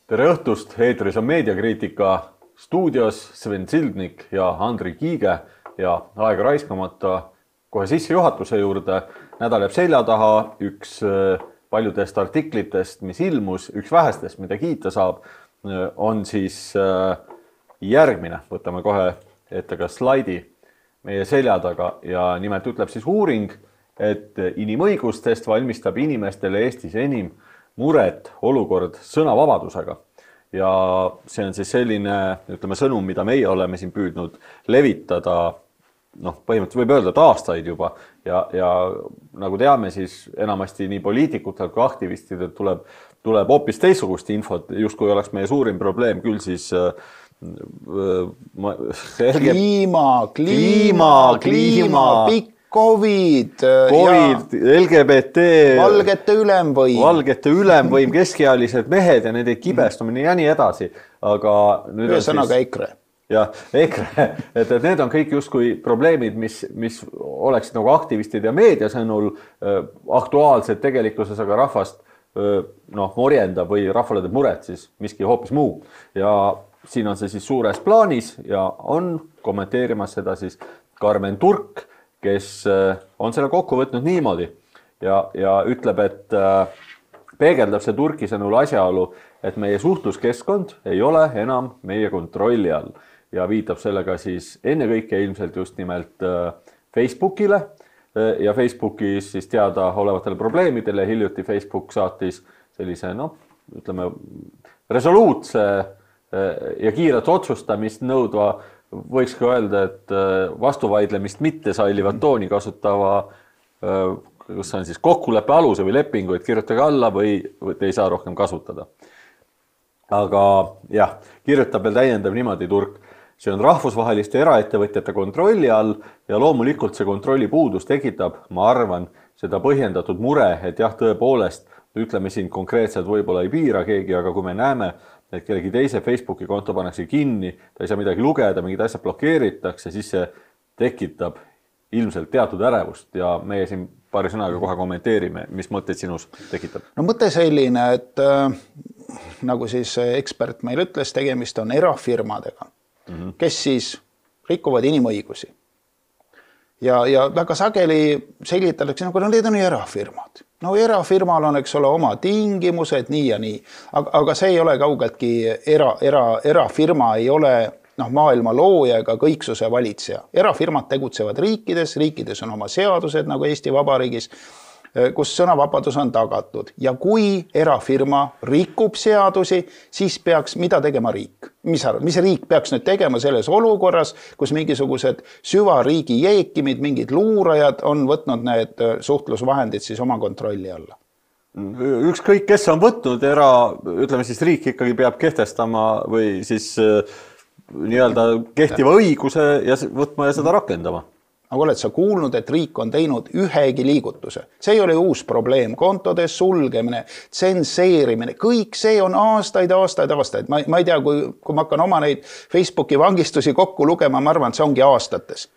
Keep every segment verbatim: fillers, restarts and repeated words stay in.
Tere õhtust, eetris on meediakriitika stuudios Sven Sildnik ja Andri Kiige ja aega raiskamata kohe sissejuhatuse juurde. Nädal jääb selja taha, üks paljudest artiklitest, mis ilmus, üks vähestest, mida kiita saab, on siis järgmine. Võtame kohe ette ka slaidi meie selja taga ja nimelt ütleb siis uuring, et inimõigustest valmistab inimestele Eestis enim muret olukord sõnavabadusega. Ja see on siis selline, ütleme, sõnum, mida meie oleme siin püüdnud levitada, noh, põhimõtteliselt võib öelda, et aastaid juba. Ja, ja nagu teame, siis enamasti nii poliitikutel kui aktivistidel tuleb, tuleb hoopis teistsugust infot, just kui oleks meie suurim probleem, küll siis ma, kliima, kliima, kliima, kliima, pikk. Covid, COVID L G B T, valgete ülemvõim, valgete ülemvõim, keskealised mehed ja nende kibestumine ja nii edasi. Aga nüüd on sõnaga siis... EKRE. Jah, EKRE. Et, et need on kõik justkui probleemid, mis, mis oleksid nagu aktivistid ja meedia sõnul äh, aktuaalsed tegelikkuses, aga rahvast äh, noh, morjendab või rahvale teeb muret siis miski hoopis muu. Ja siin on see siis suures plaanis ja on kommenteerimas seda siis Karmen Turk, kes on selle kokku võtnud niimoodi ja, ja ütleb, et peegeldab see Turki sõnul asjaolu, et meie suhtluskeskkond ei ole enam meie kontrolli all ja viitab sellega siis ennekõike ilmselt just nimelt Facebookile ja Facebookis siis teada olevatele probleemidele. Hiljuti Facebook saatis sellise, noh, ütleme, resoluutse ja kiiret otsustamist nõudva, võiks ka öelda, et vastuvaidlemist mitte sallivat tooni kasutava, kus on siis kokkuleppe aluse või lepingu, et kirjutage alla või, või te ei saa rohkem kasutada. Aga jah, kirjutab veel täiendav niimoodi Turk. See on rahvusvaheliste eraettevõtjate kontrolli all ja loomulikult see kontrolli puudus tekitab, ma arvan, seda põhjendatud mure, et jah, tõepoolest, ütleme siin konkreetselt võib-olla ei piira keegi, aga kui me näeme, et kellegi teise Facebooki konto pannakse kinni, ta ei saa midagi lugeda, mingid asjad blokeeritakse, siis see tekitab ilmselt teatud ärevust ja meie siin paari sõnaga kohe kommenteerime, mis mõtteid sinus tekitab. No mõte selline, et äh, nagu siis ekspert meil ütles, tegemist on erafirmadega, mm-hmm. kes siis rikuvad inimõigusi. Ja, ja väga sageli selgitatakse, nagu no, need on erafirmad. No erafirmal on, eks ole, oma tingimused, nii ja nii. Aga, aga see ei ole kaugeltki, era, era, erafirma ei ole noh, maailma looja ega kõiksuse valitseja. Erafirmad tegutsevad riikides, riikides on oma seadused, nagu Eesti Vabariigis, kus sõnavabadus on tagatud. Ja kui erafirma rikub seadusi, siis peaks, mida tegema riik? Mis, mis riik peaks nüüd tegema selles olukorras, kus mingisugused süvariigi jeekimid, mingid luurajad on võtnud need suhtlusvahendid siis oma kontrolli alla? Ükskõik, kes on võtnud era, ütleme siis riik ikkagi peab kehtestama või siis nii-öelda kehtiva õiguse ja võtma ja seda rakendama. Aga oled sa kuulnud, et riik on teinud ühegi liigutuse. See ei ole uus probleem. Kontode sulgemine, tsenseerimine, kõik see on aastaid, aastaid, aastaid. Ma, ma ei tea, kui, kui ma hakkan oma neid Facebooki vangistusi kokku lugema, ma arvan, et see ongi aastates.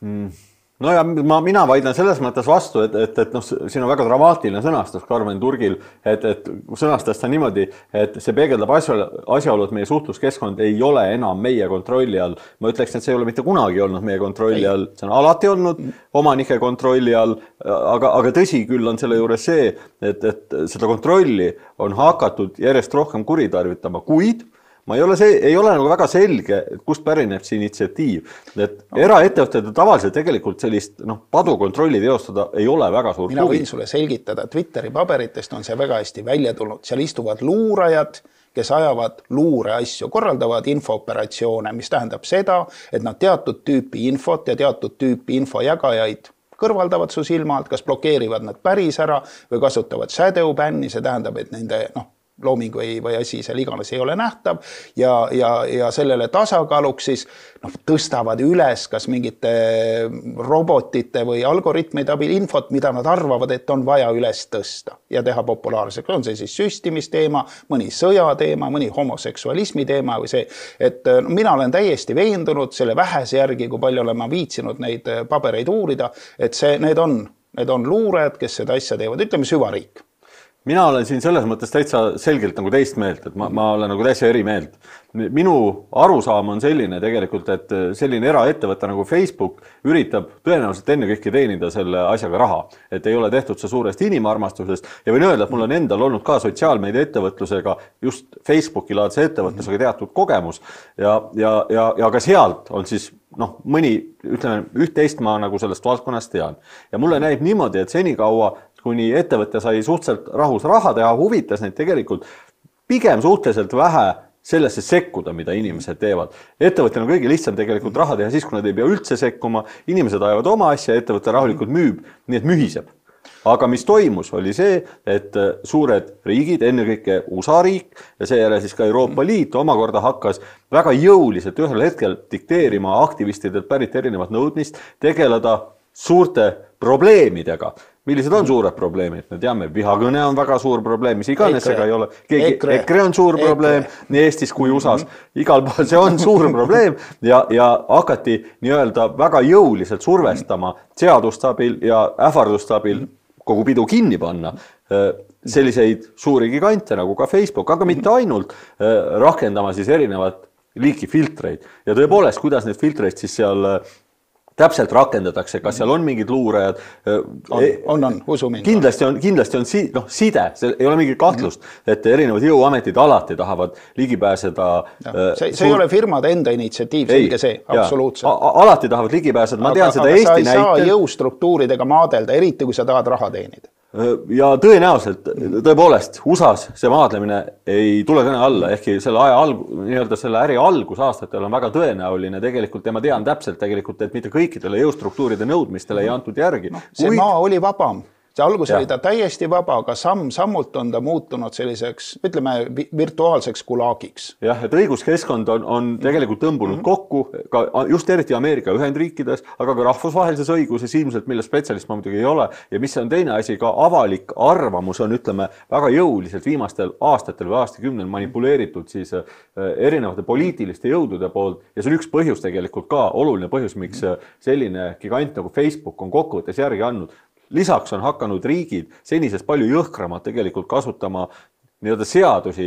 Mm. No ja ma, mina vaidlen selles mõttes vastu, et, et, et noh, siin on väga dramaatiline sõnastus Karmen Turgil, et, et sõnastas ta niimoodi, et see peegeldab asjaolu, et meie suhtluskeskkond ei ole enam meie kontrolli all. Ma ütleks, et see ei ole mitte kunagi olnud meie kontrolli all, see on alati olnud omanike kontrolli all, aga, aga tõsi küll on selle juures see, et, et seda kontrolli on hakatud järjest rohkem kuritarvitama, kuid ma ei ole, see, ei ole nagu väga selge, kust pärineb see initsiatiiv. Et no. Eraettevõtted tavaliselt tegelikult sellist noh, padukontrolli teostada ei ole väga suur Mina huvi. Võin sulle selgitada, Twitteri paberitest on see väga hästi välja tulnud. Seal istuvad luurajad, kes ajavad luure asju, korraldavad infooperatsioone, mis tähendab seda, et nad teatud tüüpi infot ja teatud tüüpi infojagajaid kõrvaldavad su silma alt, kas blokeerivad nad päris ära või kasutavad shadow banni, see tähendab, et nende noh, looming või, või asi seal iganes ei ole nähtav ja, ja, ja sellele tasakaaluks siis noh, tõstavad üles kas mingite robotite või algoritmide abil infot, mida nad arvavad, et on vaja üles tõsta ja teha populaarseks. On see siis süstimisteema, mõni sõjateema, mõni homoseksualismi teema või see, et no, mina olen täiesti veendunud selle vähese järgi, kui palju olen ma viitsinud neid pabereid uurida, et see, need on, need on luurajad, kes seda asja teevad, ütleme süvariik. mina olen siin selles mõttes täitsa selgelt nagu teist meelt, et ma, ma olen nagu täitsa eri meelt. Minu arusaam on selline tegelikult, et selline eraettevõte nagu Facebook üritab tõenäoliselt enne kõike teenida selle asjaga raha, et ei ole tehtud see suurest inimarmastusest ja võin öelda, et mul on endal olnud ka sotsiaalmeedia ettevõtlusega, just Facebooki laadse ettevõtlusega teatud kogemus ja, ja, ja, ja ka sealt on siis noh, mõni, ütleme, üht-teist ma nagu sellest valdkonnast tean ja mulle näib niimoodi, et senikaua kuni ettevõte sai suhteliselt rahus raha teha, huvitas neid tegelikult pigem suhteliselt vähe sellesse sekkuda, mida inimesed teevad. Ettevõttel on kõige lihtsam tegelikult raha teha siis, kui nad ei pea üldse sekkuma, inimesed ajavad oma asja, ettevõte rahulikult müüb, nii et mühiseb. Aga mis toimus, oli see, et suured riigid, ennekõike U S A riik ja seejärel siis ka Euroopa Liit omakorda hakkas väga jõuliselt ühel hetkel dikteerima aktivistidelt pärit erinevat nõudmist, tegeleda suurte probleemidega. Millised on suured probleemid? Me teame, vihakõne on väga suur probleem, mis iganes ega ei ole. Keegi, ekre. ekre on suur probleem nii Eestis kui U S A-s. Igal pool see on suur probleem ja, ja hakati nii-öelda väga jõuliselt survestama seadustabil ja ähvardustabil kogu pidu kinni panna selliseid suuri gigante nagu ka Facebook, aga mitte ainult rakendama siis erinevat liiki filtreid. Ja tõepoolest, kuidas need filtreid siis seal täpselt rakendatakse, kas seal on mingid luurajad. On, on, on usu mind. Kindlasti on, kindlasti on si, no, side, see ei ole mingit kahtlust, et erinevad jõuametid alati tahavad ligi pääseda. Ja, see, see suur... ei ole firmade enda initsiatiiv, selge see, absoluutselt. Alati tahavad ligi pääseda, ma tean aga, seda aga Eesti näitel. Sa ei saa jõustruktuuridega maadelda, eriti kui sa tahad raha teenida. Ja tõenäoliselt, tõepoolest, U S A-s see maadlemine ei tule kõne alla, ehkki selle aja algu, nii-öelda selle äri algusaastatel on väga tõenäoline tegelikult ja ma tean täpselt tegelikult, et mitte kõikidele jõustruktuuride nõudmistele ei antud järgi. No, see Kuid... maa oli vabam. See algus ja. oli ta täiesti vaba, aga samm sammult on ta muutunud selliseks, ütleme, virtuaalseks kulaagiks. Jah, et õiguskeskkond on, on tegelikult tõmbunud mm -hmm. kokku, ka just eriti Ameerika Ühendriikides, aga ka rahvusvahelises õiguses ilmselt, mille spetsialist ma muidugi ei ole. Ja mis on teine asi, ka avalik arvamus on, ütleme, väga jõuliselt viimastel aastatel või aastakümnel manipuleeritud siis erinevate poliitiliste jõudude poolt. Ja see on üks põhjus tegelikult ka, oluline põhjus, miks selline gigant nagu Facebook on kokkuvõttes järgi andnud. Lisaks on hakanud riigid senisest palju jõhkramalt tegelikult kasutama nii-öelda seadusi,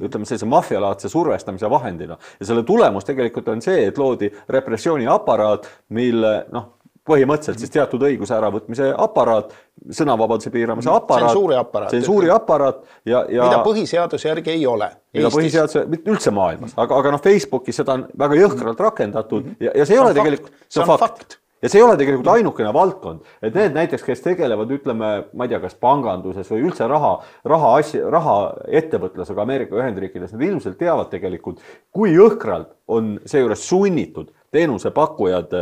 ütleme sellise mafialaadse survestamise vahendina. Ja selle tulemus tegelikult on see, et loodi repressiooni aparaat, mille noh, põhimõtteliselt siis teatud õiguse äravõtmise aparaat, sõnavabaduse piiramise aparaat, tsensuuri aparaat, tsensuuri aparaat ja, ja mida põhiseaduse järgi ei ole mida põhiseaduse, mitte üldse maailmas, aga, aga noh, Facebookis seda on väga jõhkralt rakendatud ja, ja see ei ole tegelikult, see on fakt. fakt. Ja see ei ole tegelikult ainukene valdkond, et need näiteks, kes tegelevad, ütleme, ma ei tea, kas panganduses või üldse raha, raha, asja, raha ettevõtlusega Ameerika Ühendriikides, need ilmselt teavad tegelikult, kui jõhkralt on seejuures sunnitud teenusepakkujad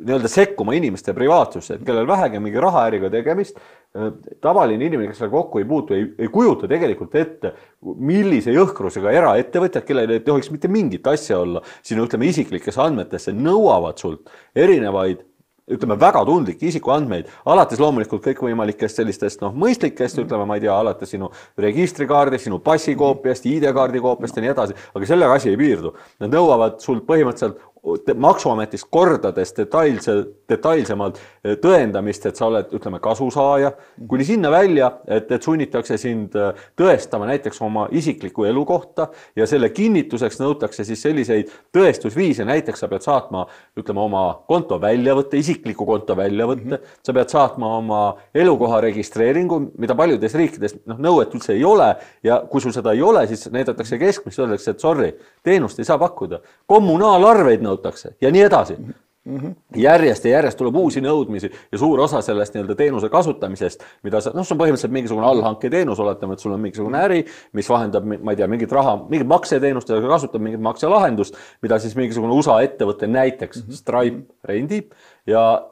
nii-öelda sekkuma inimeste privaatsusse, et kellel vähegi mingi rahaäriga tegemist, tavaline inimene, kes seal kokku ei puutu, ei, ei kujuta tegelikult ette, millise jõhkrusega eraettevõtjad, kellel ei tohiks mitte mingit asja olla, sinu ütleme isiklikes andmetesse nõuavad sult erinevaid, ütleme väga tundlikke isikuandmeid, alates loomulikult kõikvõimalikest sellistest noh, mõistlikest, ütleme, ma ei tea, alates sinu registrikaardist, sinu passikoopiast, I D-kaardi koopiast ja nii edasi, aga sellega asi ei piirdu. Nad nõuavad sult põhimõtteliselt maksuametist kordades detailse, detailsemalt tõendamist, et sa oled, ütleme, kasusaaja, kuni sinna välja, et, et sunnitakse sind tõestama näiteks oma isikliku elu kohta ja selle kinnituseks nõutakse siis selliseid tõestusviise, näiteks sa pead saatma, ütleme, oma konto väljavõtte, isikliku konto väljavõtte, mm -hmm. sa pead saatma oma elukoha registreeringu, mida paljudes riikides noh, nõuet üldse ei ole ja kui sul seda ei ole, siis näidatakse keskmist, öeldakse, et sorry, teenust ei saa pakkuda. Kommunaalarveid nõutakse ja nii edasi. Mm-hmm. Järjest ja järjest tuleb uusi nõudmisi ja suur osa sellest nii-öelda teenuse kasutamisest, mida sa, noh, see on põhimõtteliselt mingisugune allhanke teenus, oletame, et sul on mingisugune äri, mis vahendab, ma ei tea, mingit raha, mingit makseteenust ja kasutab mingit makselahendust, mida siis mingisugune U S A ettevõte näiteks mm-hmm. Stripe rendib ja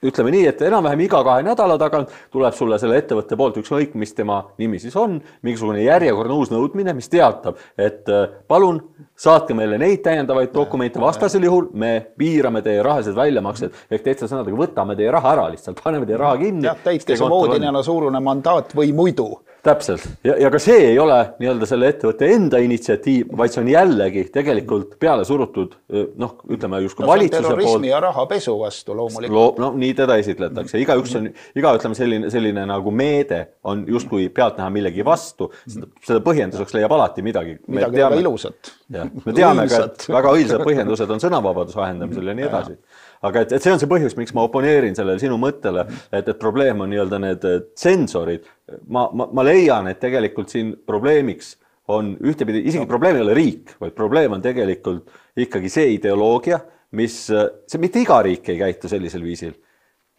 ütleme nii, et enam-vähem iga kahe nädala tagant tuleb sulle selle ettevõtte poolt ükskõik, mis tema nimi siis on, mingisugune järjekordne uus nõudmine, mis teatab, et palun saatke meile neid täiendavaid dokumente, vastasel juhul me piirame teie rahalised väljamaksed, ehk teiste sõnadega võtame teie raha ära lihtsalt, paneme teie raha kinni. Jah, täitke see voodinena suurune mandaat või muidu. Täpselt ja, ja ka see ei ole nii-öelda selle ettevõtte enda initsiatiiv, vaid see on jällegi tegelikult peale surutud, noh, ütleme justkui no, valitsuse poolt. Terrorismi ja rahapesu vastu loomulikult. Lo, no nii teda esitletakse. Iga üks on, iga ütleme selline, selline nagu meede on justkui pealt näha millegi vastu. Seda põhjenduseks leiab alati midagi. Midagi teame, väga ilusat. Ja, me teame ka, et väga õilsad põhjendused on sõnavabaduse ahendamisel ja nii edasi. Aga et, et see on see põhjus, miks ma oponeerin sellele sinu mõttele, et, et probleem on nii-öelda need tsensorid. Ma, ma, ma leian, et tegelikult siin probleemiks on ühtepidi, isegi probleem ei ole riik, vaid probleem on tegelikult ikkagi see ideoloogia, mis, see mitte iga riik ei käitu sellisel viisil.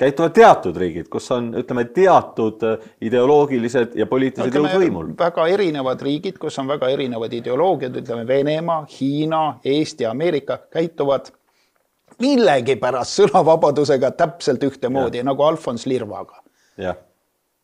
Käituvad teatud riigid, kus on, ütleme, teatud ideoloogilised ja poliitilised jõud võimul. Väga erinevad riigid, kus on väga erinevad ideoloogiad, ütleme Venemaa, Hiina, Eesti, Ameerika käituvad millegi pärast sõnavabadusega täpselt ühtemoodi, ja. nagu Alfons Lirvaga. Jah.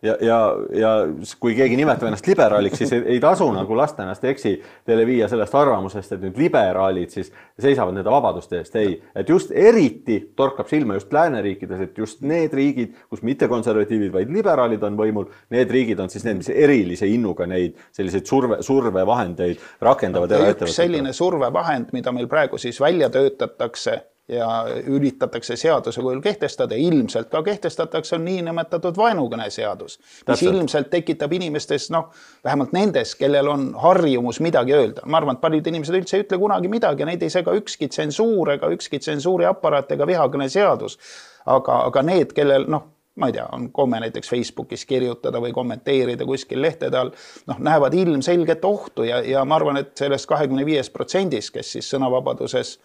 Ja, ja, ja kui keegi nimetab ennast liberaaliks, siis ei, ei tasu nagu lasta ennast eksi teile viia sellest arvamusest, et nüüd liberaalid siis seisavad nende vabaduste eest. Ei, et just eriti torkab silma just lääneriikides, et just need riigid, kus mitte konservatiivid, vaid liberaalid on võimul, need riigid on siis need, mis erilise innuga neid selliseid surve, survevahendeid rakendavad. Ja üks selline survevahend, mida meil praegu siis välja töötatakse, ja üritatakse seaduse kujul kehtestada, ilmselt ka kehtestatakse, on niinimetatud vaenukõne seadus, mis Täpselt. ilmselt tekitab inimestes, noh, vähemalt nendes, kellel on harjumus midagi öelda. Ma arvan, et paljud inimesed üldse ei ütle kunagi midagi, neid ei sega ükski tsensuur ega ükski tsensuuri aparaat ega vihakõne seadus. Aga, aga need, kellel, noh, ma ei tea, on komme näiteks Facebookis kirjutada või kommenteerida kuskil lehtede all, noh, näevad ilmselget ohtu ja, ja ma arvan, et sellest kahekümne viis protsendis, kes siis sõnavabaduses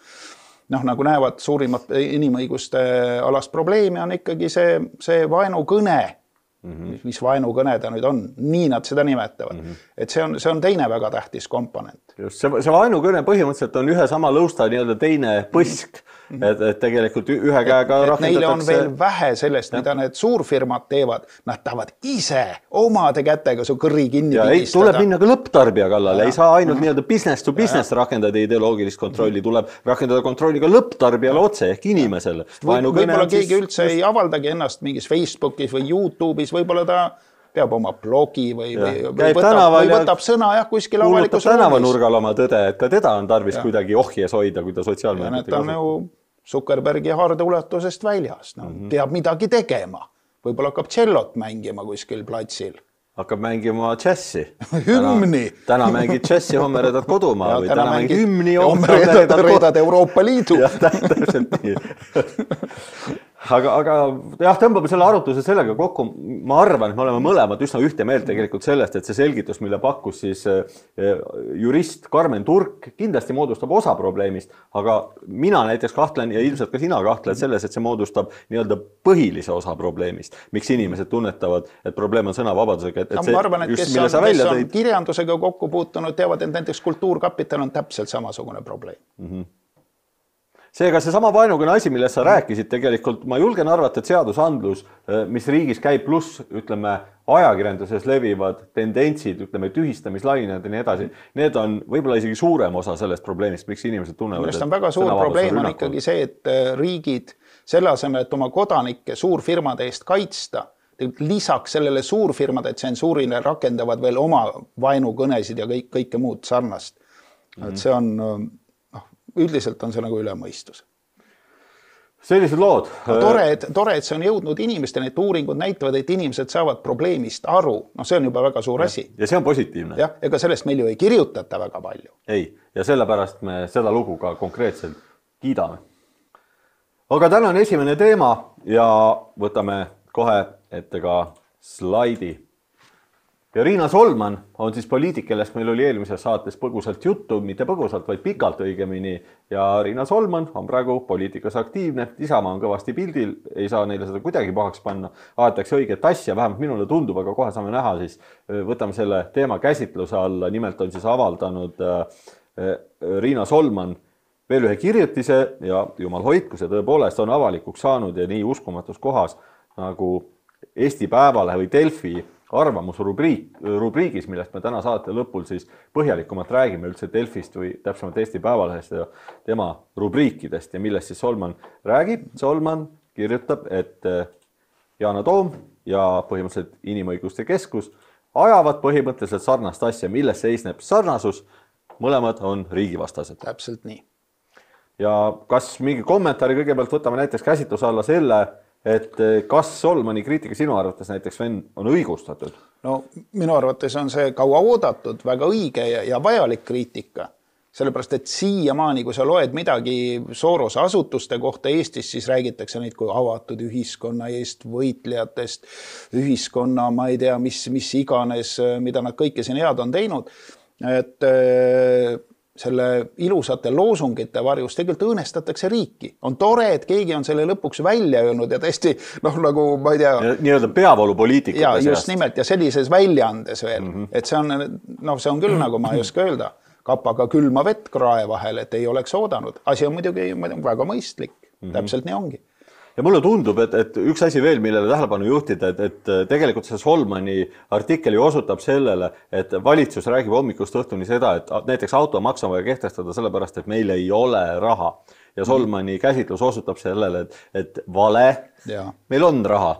noh, nagu näevad suurimat inimõiguste alast probleemi, on ikkagi see, see vaenukõne, mm-hmm. mis vaenukõne ta nüüd on, nii nad seda nimetavad. Mm-hmm. Et see on, see on teine väga tähtis komponent. Just, see, see vaenukõne põhimõtteliselt on ühe sama lõusta nii-öelda teine põsk, mm-hmm. et, et tegelikult ühe käega et, et neile on veel vähe sellest, ja. mida need suurfirmad teevad, nad tahavad ise omade kätega su kõrri kinni ja pigistada. Tuleb minna ka lõpptarbija kallale, ei saa ainult mm-hmm. nii-öelda business to business ja. rakendada ideoloogilist kontrolli, tuleb rakendada kontrolli ka lõpptarbijale otse ehk inimesele. Võib-olla keegi siis... üldse ei avaldagi ennast mingis Facebookis või YouTube'is, võib-olla ta peab oma blogi või, või, või, võtab, või võtab sõna jah, kuskil avalikus ruumis. Tänavanurgal oma tõde, et ka teda on tarvis ja. kuidagi ohjes hoida, kui ta sotsiaalmeediat ta on ju Zuckerbergi hardeulatusest väljas. No, mm-hmm. peab midagi tegema. Võib-olla hakkab tšellot mängima kuskil platsil. Hakkab mängima džässi. Hümni. Täna, täna mängid džässi, homme redad kodumaa ja, või täna, täna mängid hümni. Homme redad, redad Euroopa Liidu. jah, täpselt nii. Aga, aga jah, tõmbame selle arutluse sellega kokku. Ma arvan, et me oleme mõlemad üsna ühte meelt tegelikult sellest, et see selgitus, mille pakkus siis jurist Karmen Turk, kindlasti moodustab osa probleemist, aga mina näiteks kahtlen ja ilmselt ka sina kahtled selles, et see moodustab nii-öelda põhilise osa probleemist. Miks inimesed tunnetavad, et probleem on sõnavabadusega? Et, et see, ma arvan, et kes on, kes on kirjandusega kokku puutunud, teavad, et näiteks Kultuurkapital on täpselt samasugune probleem. Mm-hmm. Seega see sama vaenukõne asi, millest sa rääkisid, tegelikult ma julgen arvata, et seadusandlus, mis riigis käib pluss, ütleme, ajakirjanduses levivad tendentsid, ütleme, tühistamislained ja nii edasi, need on võib-olla isegi suurem osa sellest probleemist, miks inimesed tunnevad. Millest on väga suur probleem on ikkagi see, et riigid selle asemel, et oma kodanikke suurfirmade eest kaitsta, lisaks sellele suurfirmade tsensuurile rakendavad veel oma vaenukõnesid ja kõik, kõike muud sarnast. Mm-hmm. Et see on... üldiselt on see nagu ülemõistus. Sellised lood. No, tore, et, tore, et see on jõudnud inimestele, et uuringud näitavad, et inimesed saavad probleemist aru. No see on juba väga suur ja. asi. Ja see on positiivne. Jah, ega sellest meil ju ei kirjutata väga palju. Ei, ja sellepärast me seda lugu ka konkreetselt kiidame. Aga täna on esimene teema ja võtame kohe ette ka slaidi. Ja Riina Solman on siis poliitik, kellest meil oli eelmises saates põgusalt juttu, mitte põgusalt, vaid pikalt õigemini. Ja Riina Solman on praegu poliitikas aktiivne, Isamaa on kõvasti pildil, ei saa neile seda kuidagi pahaks panna. Aetakse õiget asja, vähemalt minule tundub, aga kohe saame näha, siis võtame selle teema käsitluse alla. Nimelt on siis avaldanud Riina Solman veel ühe kirjutise ja jumal hoidku, see tõepoolest on avalikuks saanud ja nii uskumatus kohas nagu Eesti Päevalehe või Delfi arvamusrubriik, rubriigis, millest me täna saate lõpul siis põhjalikumalt räägime üldse Delfist või täpsemalt Eesti Päevalehest ja tema rubriikidest ja millest siis Solman räägib. Solman kirjutab, et Yana Toom ja põhimõtteliselt Inimõiguste Keskus ajavad põhimõtteliselt sarnast asja, milles seisneb sarnasus, mõlemad on riigivastased. Täpselt nii. Ja kas mingi kommentaari kõigepealt võtame näiteks käsitluse alla selle, et kas Solmani kriitika sinu arvates näiteks Sven on õigustatud? No minu arvates on see kaua oodatud, väga õige ja, ja vajalik kriitika. Sellepärast, et siiamaani, kui sa loed midagi Sorose asutuste kohta Eestis, siis räägitakse neid kui avatud ühiskonna eest, võitlejatest, ühiskonna, ma ei tea, mis, mis iganes, mida nad kõike siin head on teinud. Et selle ilusate loosungite varjus tegelikult õõnestatakse riiki. On tore, et keegi on selle lõpuks välja öelnud ja tõesti, noh, nagu ma ei tea... Nii-öelda peavoolupoliitikute ja, just nimelt, ja sellises väljaandes veel. Mm -hmm. Et see on, noh, see on küll, nagu ma ei oska öelda, kapaga külma vett krae vahel, et ei oleks oodanud. Asi on muidugi väga mõistlik. Mm -hmm. Täpselt nii ongi. Ja mulle tundub, et, et üks asi veel, millele tähelepanu juhtida, et, et tegelikult see Solmani artikkel osutab sellele, et valitsus räägib hommikust õhtuni seda, et näiteks automaks on vaja kehtestada sellepärast, et meil ei ole raha. Ja Solmani käsitlus osutab sellele, et, et vale, ja. Meil on raha.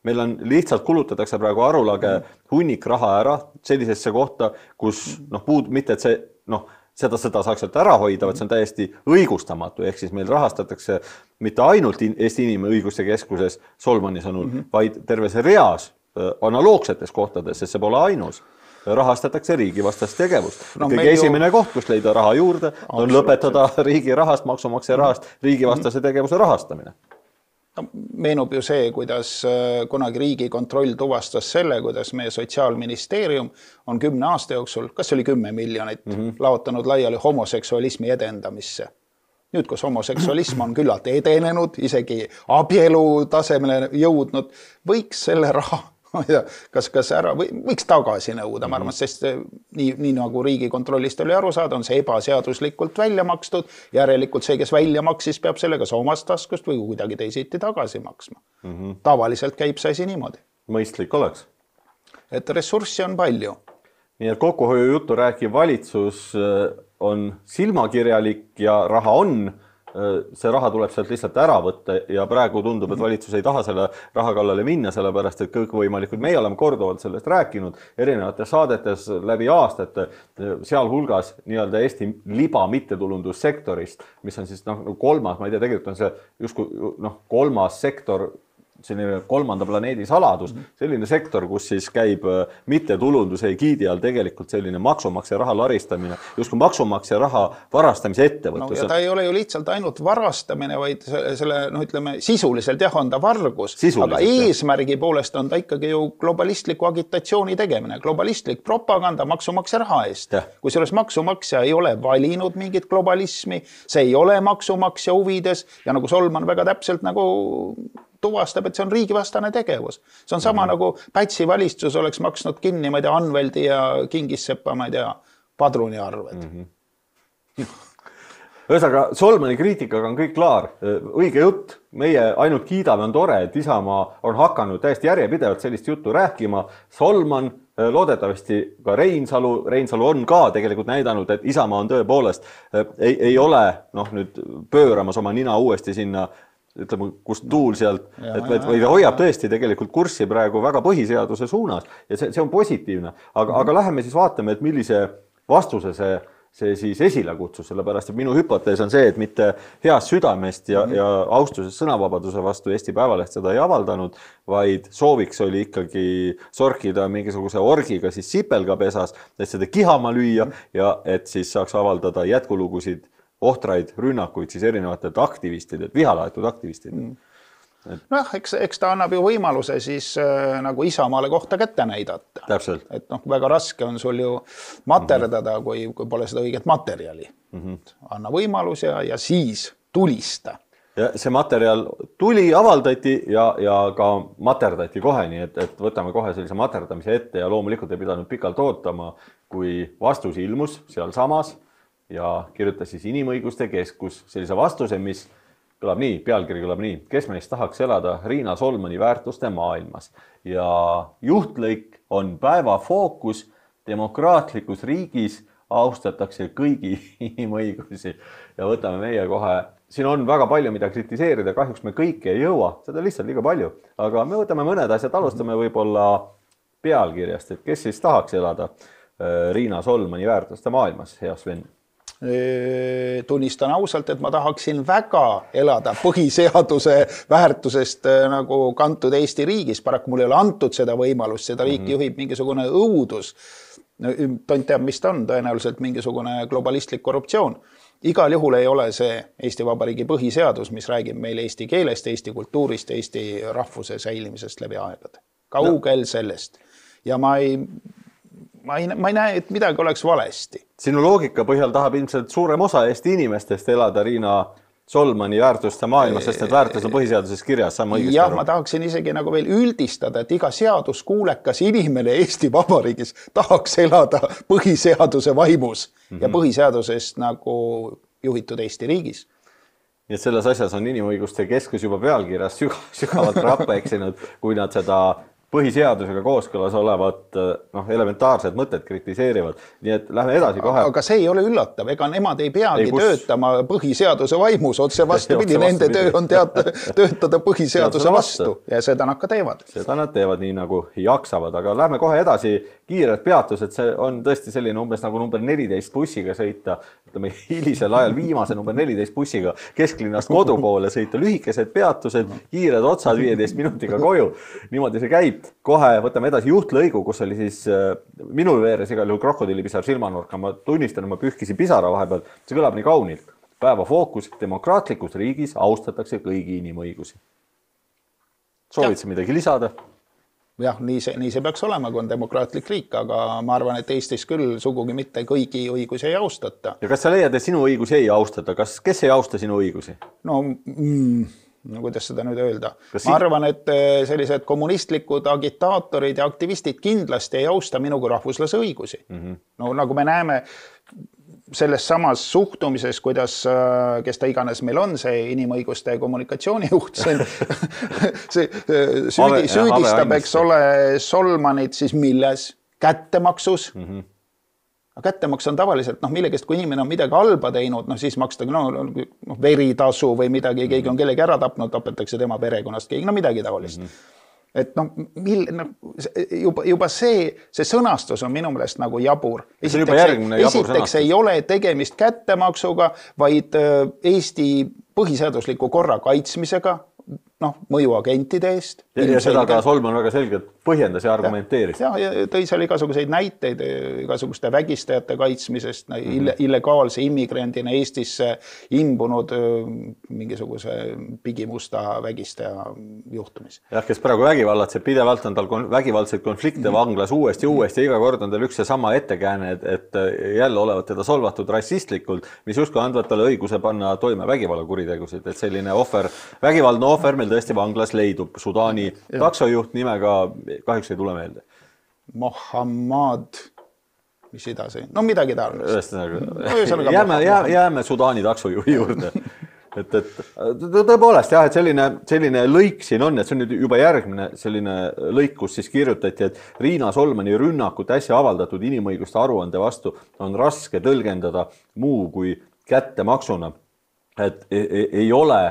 Meil on lihtsalt kulutatakse praegu arulage hunnik raha ära sellisesse kohta, kus noh, puud, mitte et see, noh, seda, seda saaks sealt ära hoida, vaid see on täiesti õigustamatu. Ehk siis meil rahastatakse mitte ainult Eesti Inimõiguste Keskuses Solmani sõnul, mm -hmm. vaid terves reas analoogsetes kohtades, sest see pole ainus. Rahastatakse riigivastast tegevust. No, kõige esimene ju... koht, kus leida raha juurde, on lõpetada riigi rahast, maksumaksja rahast, riigivastase tegevuse rahastamine. No, meenub ju see, kuidas kunagi Riigikontroll tuvastas selle, kuidas meie Sotsiaalministeerium on kümne aasta jooksul, kas oli kümme miljonit, mm -hmm. laotanud laiali homoseksualismi edendamisse. Nüüd, kus homoseksualism on küllalt edenenud, isegi abielu tasemele jõudnud, võiks selle raha, kas, kas ära, võiks tagasi nõuda, ma arvan, sest nii, nii nagu Riigikontrollist oli aru saada, on see ebaseaduslikult välja makstud, järelikult see, kes välja maksis, peab selle kas omast taskust või kuidagi teisiti tagasi maksma. Mm -hmm. Tavaliselt käib see asi niimoodi. Mõistlik oleks. Et ressurssi on palju. Nii et kokkuhoiu juttu rääkiv valitsus on silmakirjalik ja raha on, see raha tuleb sealt lihtsalt ära võtta ja praegu tundub, et valitsus ei taha selle raha kallale minna, sellepärast, et kõikvõimalikud, meie oleme korduvalt sellest rääkinud erinevates saadetes läbi aastate, sealhulgas nii-öelda Eesti liba mittetulundussektorist, mis on siis noh, kolmas, ma ei tea, tegelikult on see justkui noh, kolmas sektor, selline kolmanda planeedi saladus, selline sektor, kus siis käib mittetulunduse egiidi all tegelikult selline maksumaksja raha laristamine, justkui maksumaksja raha varastamise ettevõtlus. No, ja ta ei ole ju lihtsalt ainult varastamine, vaid selle, noh, ütleme, sisuliselt jah, on ta vargus, aga eesmärgi poolest on ta ikkagi ju globalistliku agitatsiooni tegemine, globalistlik propaganda maksumaksja raha eest. Kui selles maksumaksja ei ole valinud mingit globalismi, see ei ole maksumaksja huvides ja nagu Solman väga täpselt nagu tuvastab, et see on riigivastane tegevus. See on sama mm -hmm. nagu Pätsi valitsus oleks maksnud kinni, ma ei tea, Anveldi ja Kingissepa, ma ei tea, padruni arved. Mm -hmm. Ühesõnaga, Solmani kriitikaga on kõik klaar. Õige jutt, meie ainult kiidame, on tore, et Isamaa on hakanud täiesti järjepidevalt sellist juttu rääkima. Solman, loodetavasti ka Reinsalu, Reinsalu on ka tegelikult näidanud, et Isamaa on tõepoolest, ei, ei ole noh, nüüd pööramas oma nina uuesti sinna ütleme, kus tuul sealt, et või ta hoiab tõesti tegelikult kurssi praegu väga põhiseaduse suunas ja see, see on positiivne. Aga, mm -hmm. aga läheme siis vaatame, et millise vastuse see, see siis esile kutsus, sellepärast, et minu hüpotees on see, et mitte heast südamest ja, mm -hmm. ja austusest sõnavabaduse vastu Eesti Päevaleht seda ei avaldanud, vaid sooviks oli ikkagi sorkida mingisuguse orgiga siis sipelgapesas, et seda kihama lüüa mm -hmm. ja et siis saaks avaldada jätkulugusid ohtraid rünnakuid siis erinevatelt aktivistidelt, vihalaetud aktivistidelt. Mm. Et... noh, eks, eks ta annab ju võimaluse siis äh, nagu Isamaale kohta kätte näidata. Täpselt. Et noh, väga raske on sul ju materdada, mm -hmm. kui, kui pole seda õiget materjali. Mm -hmm. Anna võimalus ja, ja siis tulista. Ja see materjal tuli, avaldati ja, ja ka materdati kohe, nii et, et võtame kohe sellise materdamise ette ja loomulikult ei pidanud pikalt ootama, kui vastus ilmus seal samas ja kirjutas siis Inimõiguste Keskus sellise vastuse, mis kõlab nii, pealkiri kõlab nii, kes meist tahaks elada Riina Solmani väärtuste maailmas. Ja juhtlõik on päeva fookus, demokraatlikus riigis austatakse kõigi inimõigusi ja võtame meie kohe, siin on väga palju, mida kritiseerida, kahjuks me kõike ei jõua, seda lihtsalt liiga palju, aga me võtame mõned asjad, alustame võib-olla pealkirjast, et kes siis tahaks elada Riina Solmani väärtuste maailmas, hea Sven? Tunnistan ausalt, et ma tahaksin väga elada põhiseaduse väärtusest nagu kantud Eesti riigis. Paraku mul ei ole antud seda võimalust, seda riiki juhib mingisugune õudus. Tont teab, mis ta on, tõenäoliselt mingisugune globalistlik korruptsioon. Igal juhul ei ole see Eesti Vabariigi põhiseadus, mis räägib meil eesti keelest, Eesti kultuurist, Eesti rahvuse säilimisest läbi aegade. Kaugel sellest. Ja ma ei... Ma ei, ma ei näe, et midagi oleks valesti. Sinu loogika põhjal tahab ilmselt suurem osa Eesti inimestest elada Riina Solmani väärtuste maailmas, sest need väärtus on põhiseaduses kirjas. Jah, ma tahaksin isegi nagu veel üldistada, et iga seaduskuulekas inimene Eesti Vabariigis tahaks elada põhiseaduse vaimus mm-hmm. ja põhiseadusest nagu juhitud Eesti riigis. Nii et selles asjas on inimõiguste keskus juba pealkirjas sügavalt rappa eksinud, kui nad seda põhiseadusega kooskõlas olevat noh, elementaarset mõtet kritiseerivad. Nii et lähme edasi kohe. Aga see ei ole üllatav. Ega nemad ei peagi ei, kus... töötama põhiseaduse vaimus. Otse vastupidi, nende töö on teata, töötada põhiseaduse vastu. Ja seda nad ka teevad. Seda nad teevad nii nagu jaksavad. Aga lähme kohe edasi kiired peatused. See on tõesti selline umbes nagu number neliteist bussiga sõita. Ütleme, hilisel ajal viimase number neliteist bussiga kesklinnast kodu poole sõita. Lühikesed peatused, kiired otsad viieteist minutiga koju. Niimoodi see käib. Kohe võtame edasi juhtlõigu, kus oli siis äh, minul veeres igal juhul krokodillipisar silmanurka. Ma tunnistan, ma pühkisin pisara vahepeal. See kõlab nii kaunilt. Päeva fookus, demokraatlikus riigis austatakse kõigi inimõigusi. Soovid sa midagi lisada? Jah, nii see, nii see peaks olema, kui on demokraatlik riik, aga ma arvan, et Eestis küll sugugi mitte kõigi õigusi ei austata. Ja kas sa leiad, et sinu õigusi ei austata? Kas, kes ei austa sinu õigusi? No... Mm... No, kuidas seda nüüd öelda? Kas ma arvan, et sellised kommunistlikud agitaatorid ja aktivistid kindlasti ei austa minu kui rahvuslase õigusi. Mm-hmm. No nagu me näeme selles samas suhtumises, kuidas, kes ta iganes meil on, see inimõiguste kommunikatsioonijuht, see, see süüdi, süüdistab, eks ole, Solmanit siis milles? Kättemaksus. Mm-hmm. Kättemaks on tavaliselt, noh, millegest, kui inimene on midagi halba teinud, noh, siis makstakse no, no, veritasu või midagi, keegi on kellegi ära tapnud, tapetakse tema perekonnast, keegi, no midagi taolist. Mm-hmm. Et noh, mil, no, juba, juba see, see sõnastus on minu meelest nagu jabur. Esiteks, jabur esiteks ei ole tegemist kättemaksuga, vaid Eesti põhiseadusliku korra kaitsmisega, noh, mõjuagentide eest. Ja, ja seda ka Solman väga selgelt põhjendas ja argumenteeris. Ja, ja tõi seal igasuguseid näiteid igasuguste vägistajate kaitsmisest, mm-hmm. illegaalse immigrandina Eestisse imbunud mingisuguse pigimusta vägistaja juhtumis. Jah, kes praegu vägivallatseb, pidevalt on tal vägivaldseid konflikte mm-hmm. vanglas uuesti, uuesti ja iga kord on tal üks ja sama ettekääne, et, et jälle olevat teda solvatud rassistlikult, mis justkui andvad talle õiguse panna toime vägivallakuritegusid, et selline ohver, vägivaldne ohver meil tõesti vanglas leidub. Sudaani ja. Taksojuht nimega kahjuks ei tule meelde. Mohammad, mis edasi? No midagi taolist. No, jääme, jääme Sudaani taksojuhi juurde. Et, et tõepoolest jah, et selline, selline lõik siin on, et see on nüüd juba järgmine selline lõik, kus siis kirjutati, et Riina Solmani rünnakut äsja avaldatud inimõiguste aruande vastu on raske tõlgendada muu kui kättemaksuna. Et ei, ei ole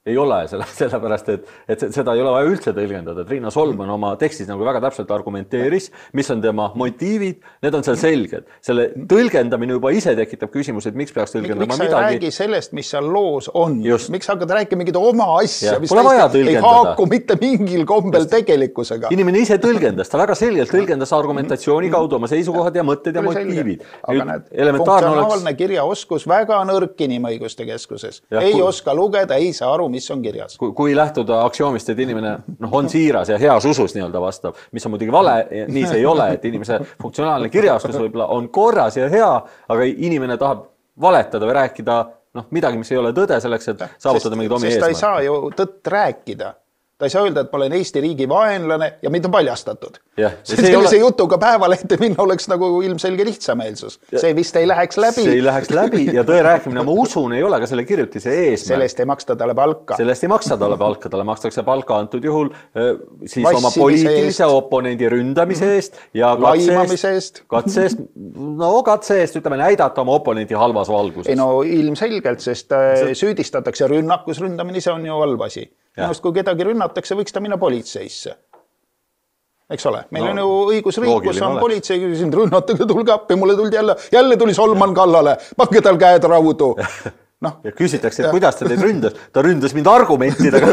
ei ole, sellepärast, et, et seda ei ole vaja üldse tõlgendada. Et Riina Solman oma tekstis nagu väga täpselt argumenteeris, mis on tema motiivid, need on seal selged. Selle tõlgendamine juba ise tekitab küsimus, et miks peaks tõlgendama miks midagi. Miks sa ei räägi sellest, mis seal loos on? Just. Miks hakkad rääkima mingit oma asja, ja, mis ei haaku mitte mingil kombel Just. tegelikkusega? Inimene ise tõlgendas, ta väga selgelt tõlgendas argumentatsiooni kaudu oma seisukohad ja mõtted ja motiivid. Aga need funktsionaalne oleks... kirjaoskus väga nõrk inimõiguste keskuses. Ja, ei kui... oska lugeda, ei saa aru, mis on kirjas. Kui, kui lähtuda aktsioomist, et inimene no, on siiras ja heas usus nii-öelda vastab, mis on muidugi vale, nii see ei ole, et inimese funktsionaalne kirjaoskus võib-olla on korras ja hea, aga inimene tahab valetada või rääkida no, midagi, mis ei ole tõde selleks, et saavutada mingid omi eesmärk. Sest ta ei saa ju tõtt rääkida. Ta ei saa öelda, et ma olen Eesti riigi vaenlane ja mind on paljastatud. Ja, sellise ole... jutuga päevalehte minna oleks nagu ilmselge lihtsameelsus. Ja, see vist ei läheks läbi. See ei läheks läbi ja tõe rääkimine, ma usun, ei ole ka selle kirjutise eesmärk. Sellest ei maksta talle palka. Sellest ei maksta talle palka. Talle makstakse palka antud juhul siis Vassimise oma poliitilise eest. Oponendi ründamise eest ja katse eest. Katse eest, no katse eest, ütleme, näidata oma oponendi halvas valguses. Ei no ilmselgelt, sest see... süüdistatakse rünnakus, ründamine, see on ju halb asi. Minust, kui kedagi rünnatakse, võiks ta minna politseisse. eks ole, meil no, on ju õigusriik, kus on politsei, sind rünnatage, tulge appi, mulle tuldi jälle, jälle tuli Solman kallale, pange tal käed raudu. No, ja küsitakse, et ja. kuidas ta teid ründas? Ta ründas mind argumentidega.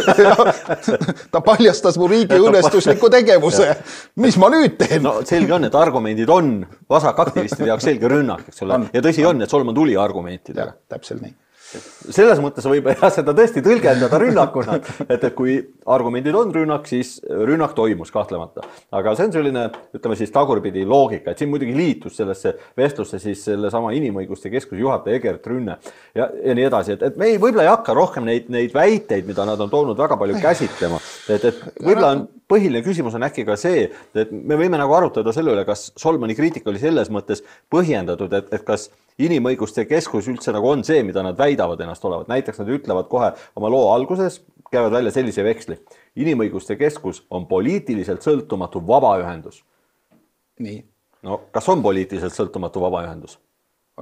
Ta paljastas mu riigi õõnestusliku tegevuse. Mis ma nüüd teen? No selge on, et argumendid on vasakaktivistide jaoks selge rünnak, eks ole. Ja tõsi on, et Solman tuli argumentidega. Ja, täpselt nii. Selles mõttes võib ja seda tõesti tõlgendada rünnakuna, et, et kui argumendid on rünnak, siis rünnak toimus kahtlemata. Aga see on selline, ütleme siis tagurpidi loogika, et siin muidugi liitus sellesse vestlusse siis selle sama inimõiguste keskuse juhataja Egert Rünne ja, ja nii edasi, et, et me ei, võib-olla ei hakka rohkem neid, neid väiteid, mida nad on toonud väga palju käsitlema, et, et võib-olla on põhiline küsimus on äkki ka see, et me võime nagu arutada selle üle, kas Solmani kriitika oli selles mõttes põhjendatud, et, et kas inimõiguste keskus üldse nagu on see, mida nad väidavad ennast olevat. Näiteks nad ütlevad kohe oma loo alguses, käivad välja sellise veksli. Inimõiguste keskus on poliitiliselt sõltumatu vabaühendus. Nii. No kas on poliitiliselt sõltumatu vabaühendus?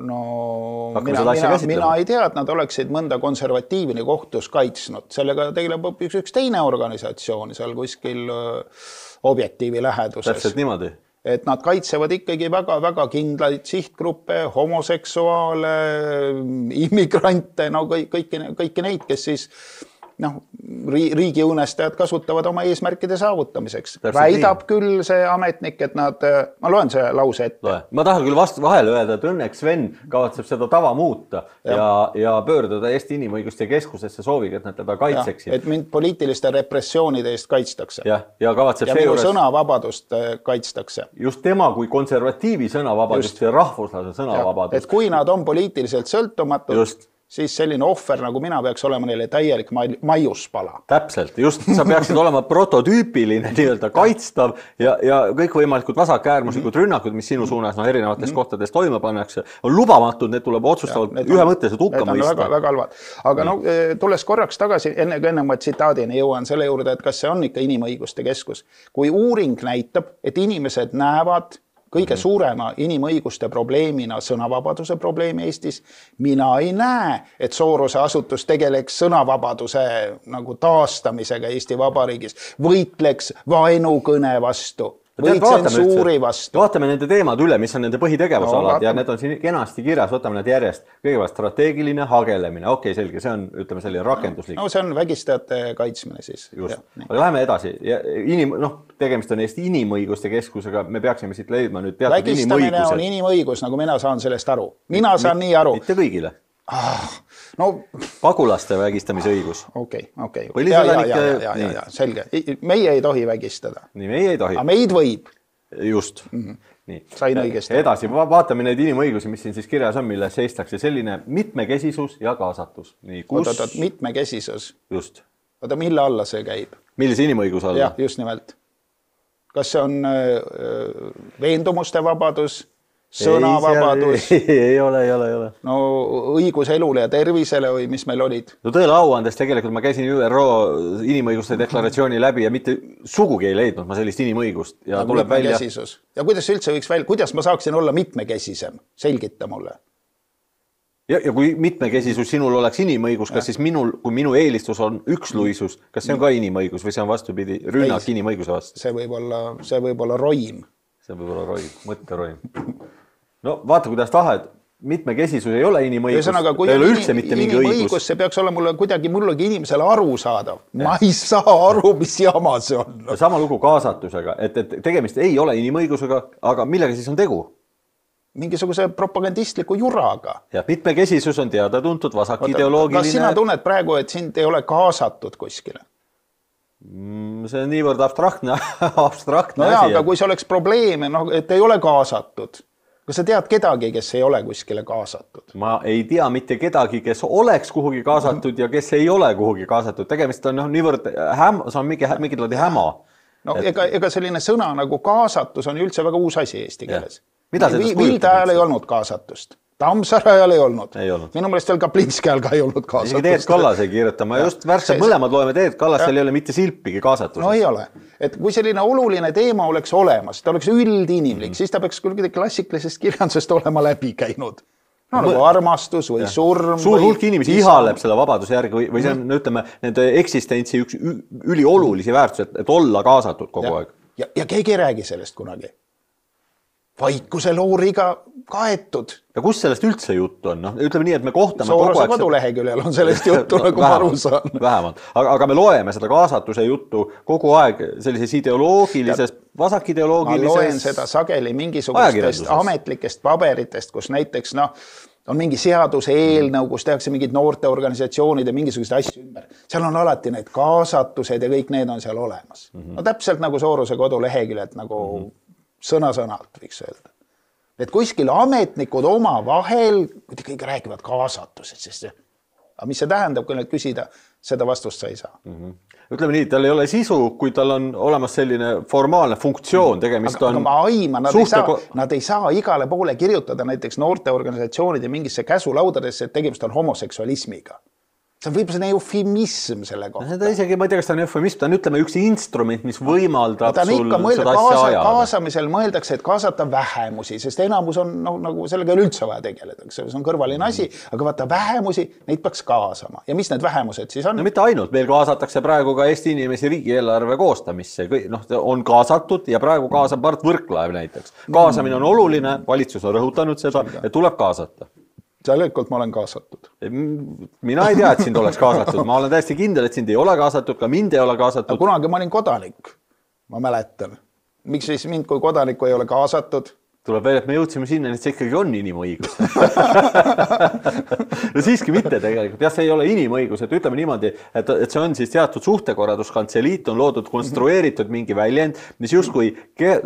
No mina, mina, mina ei tea, et nad oleksid mõnda konservatiivini kohtus kaitsnud. Sellega tegeleb üks, üks teine organisatsioon seal kuskil objektiivi läheduses. Täpselt niimoodi. Et nad kaitsevad ikkagi väga-väga kindlaid sihtgruppe, homoseksuaale, immigrante, no kõiki, kõiki neid, kes siis noh, riigi õõnestajad kasutavad oma eesmärkide saavutamiseks. Täpselt väidab nii. Küll see ametnik, et nad, ma loen see lause ette. Loe. Ma tahan küll vastu vahele öelda, et õnneks Sven kavatseb seda tava muuta ja, ja, ja pöörduda Eesti inimõiguste keskusesse sooviga, et nad teda kaitseksid. Et mind poliitiliste repressioonide eest kaitstakse. Ja, ja, ja minu juures... sõnavabadust kaitstakse. Just tema kui konservatiivi sõnavabadust Just. Ja rahvuslase sõnavabadust. Et kui nad on poliitiliselt sõltumatud, Just. Siis selline ohver, nagu mina peaks olema neile täielik maiuspala. Täpselt, just sa peaksid olema prototüüpiline, nii-öelda kaitstav ja, ja kõik võimalikud vasakäärmuslikud rünnakud, mis sinu suunas no, erinevates mm. kohtades toime pannakse, on lubamatud, need tuleb otsustavalt ühemõtteliselt hukka mõista. Väga, väga halvad. Aga no, tulles korraks tagasi, enne kui enne ma tsitaadini jõuan selle juurde, et kas see on ikka inimõiguste keskus. Kui uuring näitab, et inimesed näevad kõige suurema inimõiguste probleemina sõnavabaduse probleemi Eestis. Mina ei näe, et Soorose asutus tegeleks sõnavabaduse nagu taastamisega Eesti Vabariigis, võitleks vaenukõne vastu. Või tsensuuri vastu. Vaatame nende teemad üle, mis on nende põhitegevusalad no, ja need on siin kenasti kirjas, võtame need järjest. Kõigepealt strateegiline hagelemine, okei, selge, see on, ütleme, selline rakenduslik. No see on vägistajate kaitsmine siis. Just, ja, aga läheme edasi. Ja inim, noh, tegemist on Eesti inimõiguste keskusega, me peaksime siit leidma nüüd teatud vägistamine inimõigused. On inimõigus, nagu mina saan sellest aru. Mina saan M nii aru. Mitte kõigile. Ah, no pagulaste vägistamise õigus. Okei, okei. Ja, ja, ja, ja, ja, ja, selge. Meie ei tohi vägistada. Nii, meie ei tohi. Aga meid võib. Just. Mm-hmm. Nii. Sain õigesti. Edasi, vaatame neid inimõigusi, mis siin siis kirjas on, mille seistakse selline mitmekesisus ja kaasatus. Nii, kus... Oot, oot, mitmekesisus. Just. Oota, mille alla see käib? Millise inimõiguse alla? Jah, just nimelt. Kas see on äh, veendumuste vabadus? Sõnavabadus. Ei, ei ole, ei ole, ei ole. No õigus elule ja tervisele või mis meil olid? No tõele auandes tegelikult ma käisin Ü R O inimõiguste deklaratsiooni läbi ja mitte sugugi ei leidnud ma sellist inimõigust. Ja, tuleb välja... ja kuidas üldse võiks välja, kuidas ma saaksin olla mitmekesisem? Selgita mulle. Ja, ja kui mitmekesisus sinul oleks inimõigus, kas ja. Siis minul, kui minu eelistus on üksluisus, kas see on ka inimõigus või see on vastupidi rünnak ei, inimõiguse vastu? See võib olla, see võib olla roim. See võib olla roim, mõtteroim. No vaata, kuidas tahed, mitmekesisus ei ole inimõigus, ei ole üldse mitte mingi õigus. See peaks olla mulle kuidagi mullegi inimesele aru saadav. Ma ei saa aru, mis jama see on. Sama lugu kaasatusega, et, et tegemist ei ole inimõigusega, aga millega siis on tegu? Mingisuguse propagandistliku juraga. Ja mitmekesisus on teada tuntud vasakideoloogiline. Kas sina tunned praegu, et sind ei ole kaasatud kuskile? See on niivõrd abstraktne, abstraktne no asi. No jaa, aga kui see oleks probleeme, no, et ei ole kaasatud. Kas sa tead kedagi, kes ei ole kuskile kaasatud? Ma ei tea mitte kedagi, kes oleks kuhugi kaasatud ja kes ei ole kuhugi kaasatud. Tegemist on no, niivõrd häm, see on mingi, mingi laadi häma. No et... ega, ega selline sõna nagu kaasatus on üldse väga uus asi eesti keeles. Vi, Vilde ajal ei olnud kaasatust. Tammsaare ajal ei olnud. ei olnud. Minu meelest veel Kaplinski ajal ka ei olnud kaasatust. Teet Kallas ei kirjuta. Ma just värskelt mõlemad loeme Teet Kallasel ei ole mitte silpigi kaasatusest. No ei ole. Et kui selline oluline teema oleks olemas, ta oleks üldinimlik, mm. siis ta peaks küll klassikalisest kirjandusest olema läbi käinud. No, no nagu armastus või ja. Surm. Suur hulk inimesi ihaleb selle vabaduse järgi või, või see on, mm. ütleme, nende eksistentsi üks üliolulisi väärtusi, et, et olla kaasatud kogu ja. Aeg. ja, ja keegi ei räägi sellest kunagi. Vaikuse looriga kaetud. Ja kus sellest üldse juttu on? No, ütleme nii, et me kohtame Soorose koduleheküljel on sellest juttu, nagu ma aru saan. Vähemalt. Aga, aga me loeme seda kaasatuse juttu kogu aeg sellises ideoloogilises, vasakideoloogilises... Ma loen seda sageli mingisugustest ametlikest paberitest, kus näiteks noh, on mingi seaduse eelnõu, kus tehakse mingid noorteorganisatsioonid ja mingisugused asju ümber. Seal on alati need kaasatused ja kõik need on seal olemas. Mm-hmm. No täpselt nagu Soorose koduleheküljelt nagu mm-hmm. sõna-sõnalt võiks öelda. Et kuskil ametnikud oma vahel, kui kõik räägivad kaasatused, sest aga mis see tähendab, kui nad küsida, seda vastust sa ei saa. Mm-hmm. Ütleme nii, tal ei ole sisu, kui tal on olemas selline formaalne funktsioon, tegemist aga, on... Aga ma aima, nad, suhte... ei saa, nad ei saa igale poole kirjutada näiteks noorteorganisatsioonid ja mingisse käsulaudadesse, et tegemist on homoseksualismiga. See on võib-olla eufemism selle kohta. Ta isegi, ma ei tea, kas ta on eufemism, ta on ütleme üks instrument, mis võimaldab ta on sul mõelda, seda asja kaasa, ajada. Kaasamisel mõeldakse, et kaasata vähemusi, sest enamus on no, nagu sellega ei ole üldse vaja tegeleda. See on kõrvaline asi, aga vaata vähemusi, neid peaks kaasama. Ja mis need vähemused siis on? No mitte ainult, meil kaasatakse praegu ka Eesti inimesi riigieelarve koostamisse. No, on kaasatud ja praegu kaasab Mart Võrklaev näiteks. Kaasamine on oluline, valitsus on rõhutanud seda, et tuleb kaasata. Tegelikult ma olen kaasatud. Mina ei tea, et sind oleks kaasatud. Ma olen täiesti kindel, et sind ei ole kaasatud, ka mind ei ole kaasatud. Kunagi ma olin kodanik, ma mäletan. Miks siis mind kui kodanikku ei ole kaasatud? Tuleb veel, et me jõudsime sinna, et see ikkagi on inimõigus. No siiski mitte tegelikult. Jah, see ei ole inimõigus, et ütleme niimoodi, et, et see on siis teatud suhtekorralduskantseliit, on loodud, konstrueeritud mingi väljend, mis justkui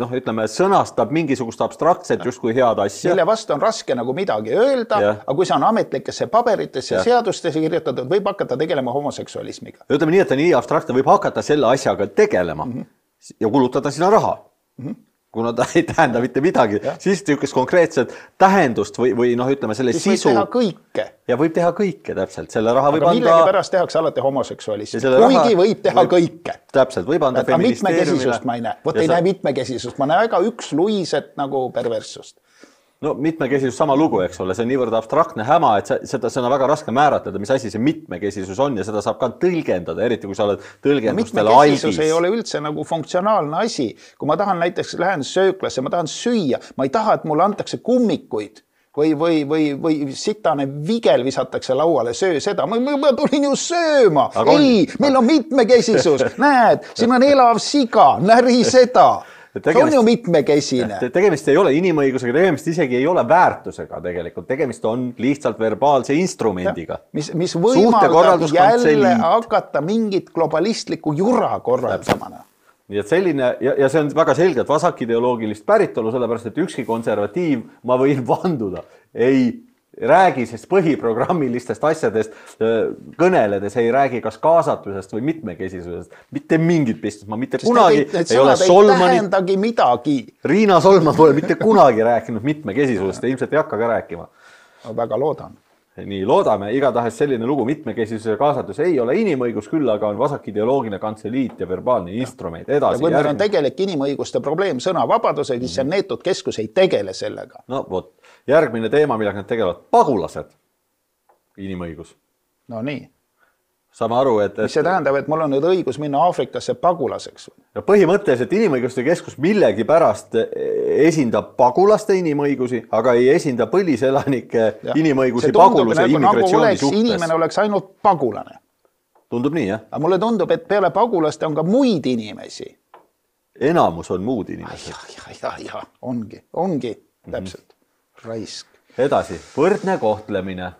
noh, ütleme, sõnastab mingisugust abstraktset justkui head asja. Mille vastu on raske nagu midagi öelda, ja. Aga kui see on ametlikesse paberitesse ja seadustesse kirjutatud, võib hakata tegelema homoseksualismiga. Ütleme nii, et ta nii abstraktne võib hakata selle asjaga tegelema mm-hmm. ja kulutada sinna raha. Mm-hmm. Kuna ta ei tähenda mitte midagi, ja. Siis tükkas konkreetset tähendust või, või noh, ütleme selle siis sisu. Võib teha kõike. Ja võib teha kõike täpselt. Selle raha võib aga anda... millegi pärast tehakse alati homoseksualismi. Kuigi raha... võib teha võib... kõike. Täpselt, võib anda feministeeriumile. Mitmekesisust ma ei näe. Võt ei sa... näe mitmekesisust. Ma näe väga üks luiset nagu perverssust. No mitmekesisus sama lugu, eks ole, see on niivõrd abstraktne häma, et seda, seda on väga raske määratleda, mis asi see mitmekesisus on ja seda saab ka tõlgendada, eriti kui sa oled tõlgendustele no, mitmekesisus ei ole üldse nagu funktsionaalne asi. Kui ma tahan näiteks lähen sööklasse, ma tahan süüa, ma ei taha, et mulle antakse kummikuid või, või, või, või sitane vigel visatakse lauale, söö seda. Ma, ma tulin ju sööma. Aga ei, on... meil on mitmekesisus. Näed, siin on elav siga, näri seda. Tegemist, see on ju mitmekesine. Tegemist ei ole inimõigusega, tegemist isegi ei ole väärtusega tegelikult. Tegemist on lihtsalt verbaalse instrumendiga. Ja, mis, mis võimaldab jälle hakata mingit globalistlikku jura korraldamana. Nii et selline, ja, ja see on väga selgelt vasakideoloogilist päritolu, sellepärast, et ükski konservatiiv, ma võin vanduda, ei räägi sest põhiprogrammilistest asjadest kõneledes, ei räägi kas kaasatusest või mitmekesisusest. Mitte mingit pistust. Ma mitte sest kunagi need, need ei ole Solmanit. Midagi. Riina Solman pole mitte kunagi rääkinud mitmekesisusest ja ilmselt ei hakka ka rääkima. Ma väga loodan. Nii, loodame. Igatahes selline lugu mitmekesisuse kaasatus ei ole inimõigus, küll aga on vasakideoloogiline kantseliit ja verbaalne instrument. Edasi, ja kui meil on tegelik inimõiguste probleem sõnavabadusega, siis see neetud keskus ei tegele sellega. No vot, järgmine teema, millega nad tegelevad, pagulased. Inimõigus. No nii. Saame aru, et... Mis see tähendab, et mul on nüüd õigus minna Aafrikasse pagulaseks? Ja põhimõtteliselt inimõiguste keskus millegi pärast esindab pagulaste inimõigusi, aga ei esinda põliselanike ja. Inimõigusi paguluse nagu, immigratsiooni nagu suhtes. Inimene oleks ainult pagulane. Tundub nii, jah? Aga mulle tundub, et peale pagulaste on ka muid inimesi. Enamus on muud inimesed. Ja, ja, ja, ongi, ongi, täpselt. Mm-hmm. Raisk. Edasi, võrdne kohtlemine.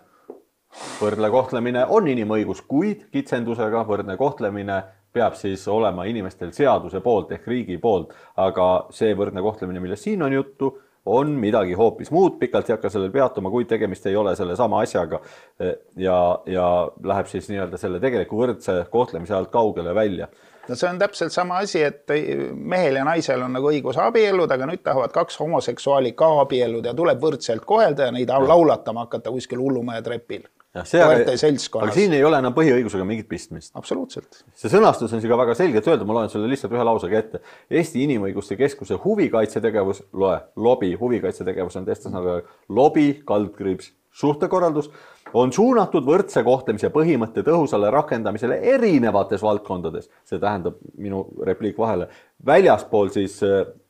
Võrdne kohtlemine on inimõigus, kuid kitsendusega võrdne kohtlemine peab siis olema inimestel seaduse poolt ehk riigi poolt, aga see võrdne kohtlemine, millest siin on juttu, on midagi hoopis muud, pikalt ei hakka sellel peatuma, kui tegemist ei ole selle sama asjaga ja, ja läheb siis nii-öelda selle tegeliku võrdse kohtlemise alt kaugele välja. No see on täpselt sama asi, et mehel ja naisel on nagu õigus abiellud, aga nüüd tahavad kaks homoseksuaali ka abiellud ja tuleb võrdselt kohelda ja neid laulatama hakata kuskil hullumaja trepil. koerte seltskonnas. Aga siin ei ole enam põhiõigusega mingit pistmist. Absoluutselt. See sõnastus on siga väga selgelt öelda, ma loen sulle lihtsalt ühe lausega ette. Eesti Inimõiguste Keskuse huvikaitsetegevus, loe, lobi, huvikaitsetegevus on testas nagu lobi, kaldkriips, suhtekorraldus, on suunatud võrdse kohtlemise põhimõtte tõhusale rakendamisele erinevates valdkondades. See tähendab minu repliik vahele. Väljaspool siis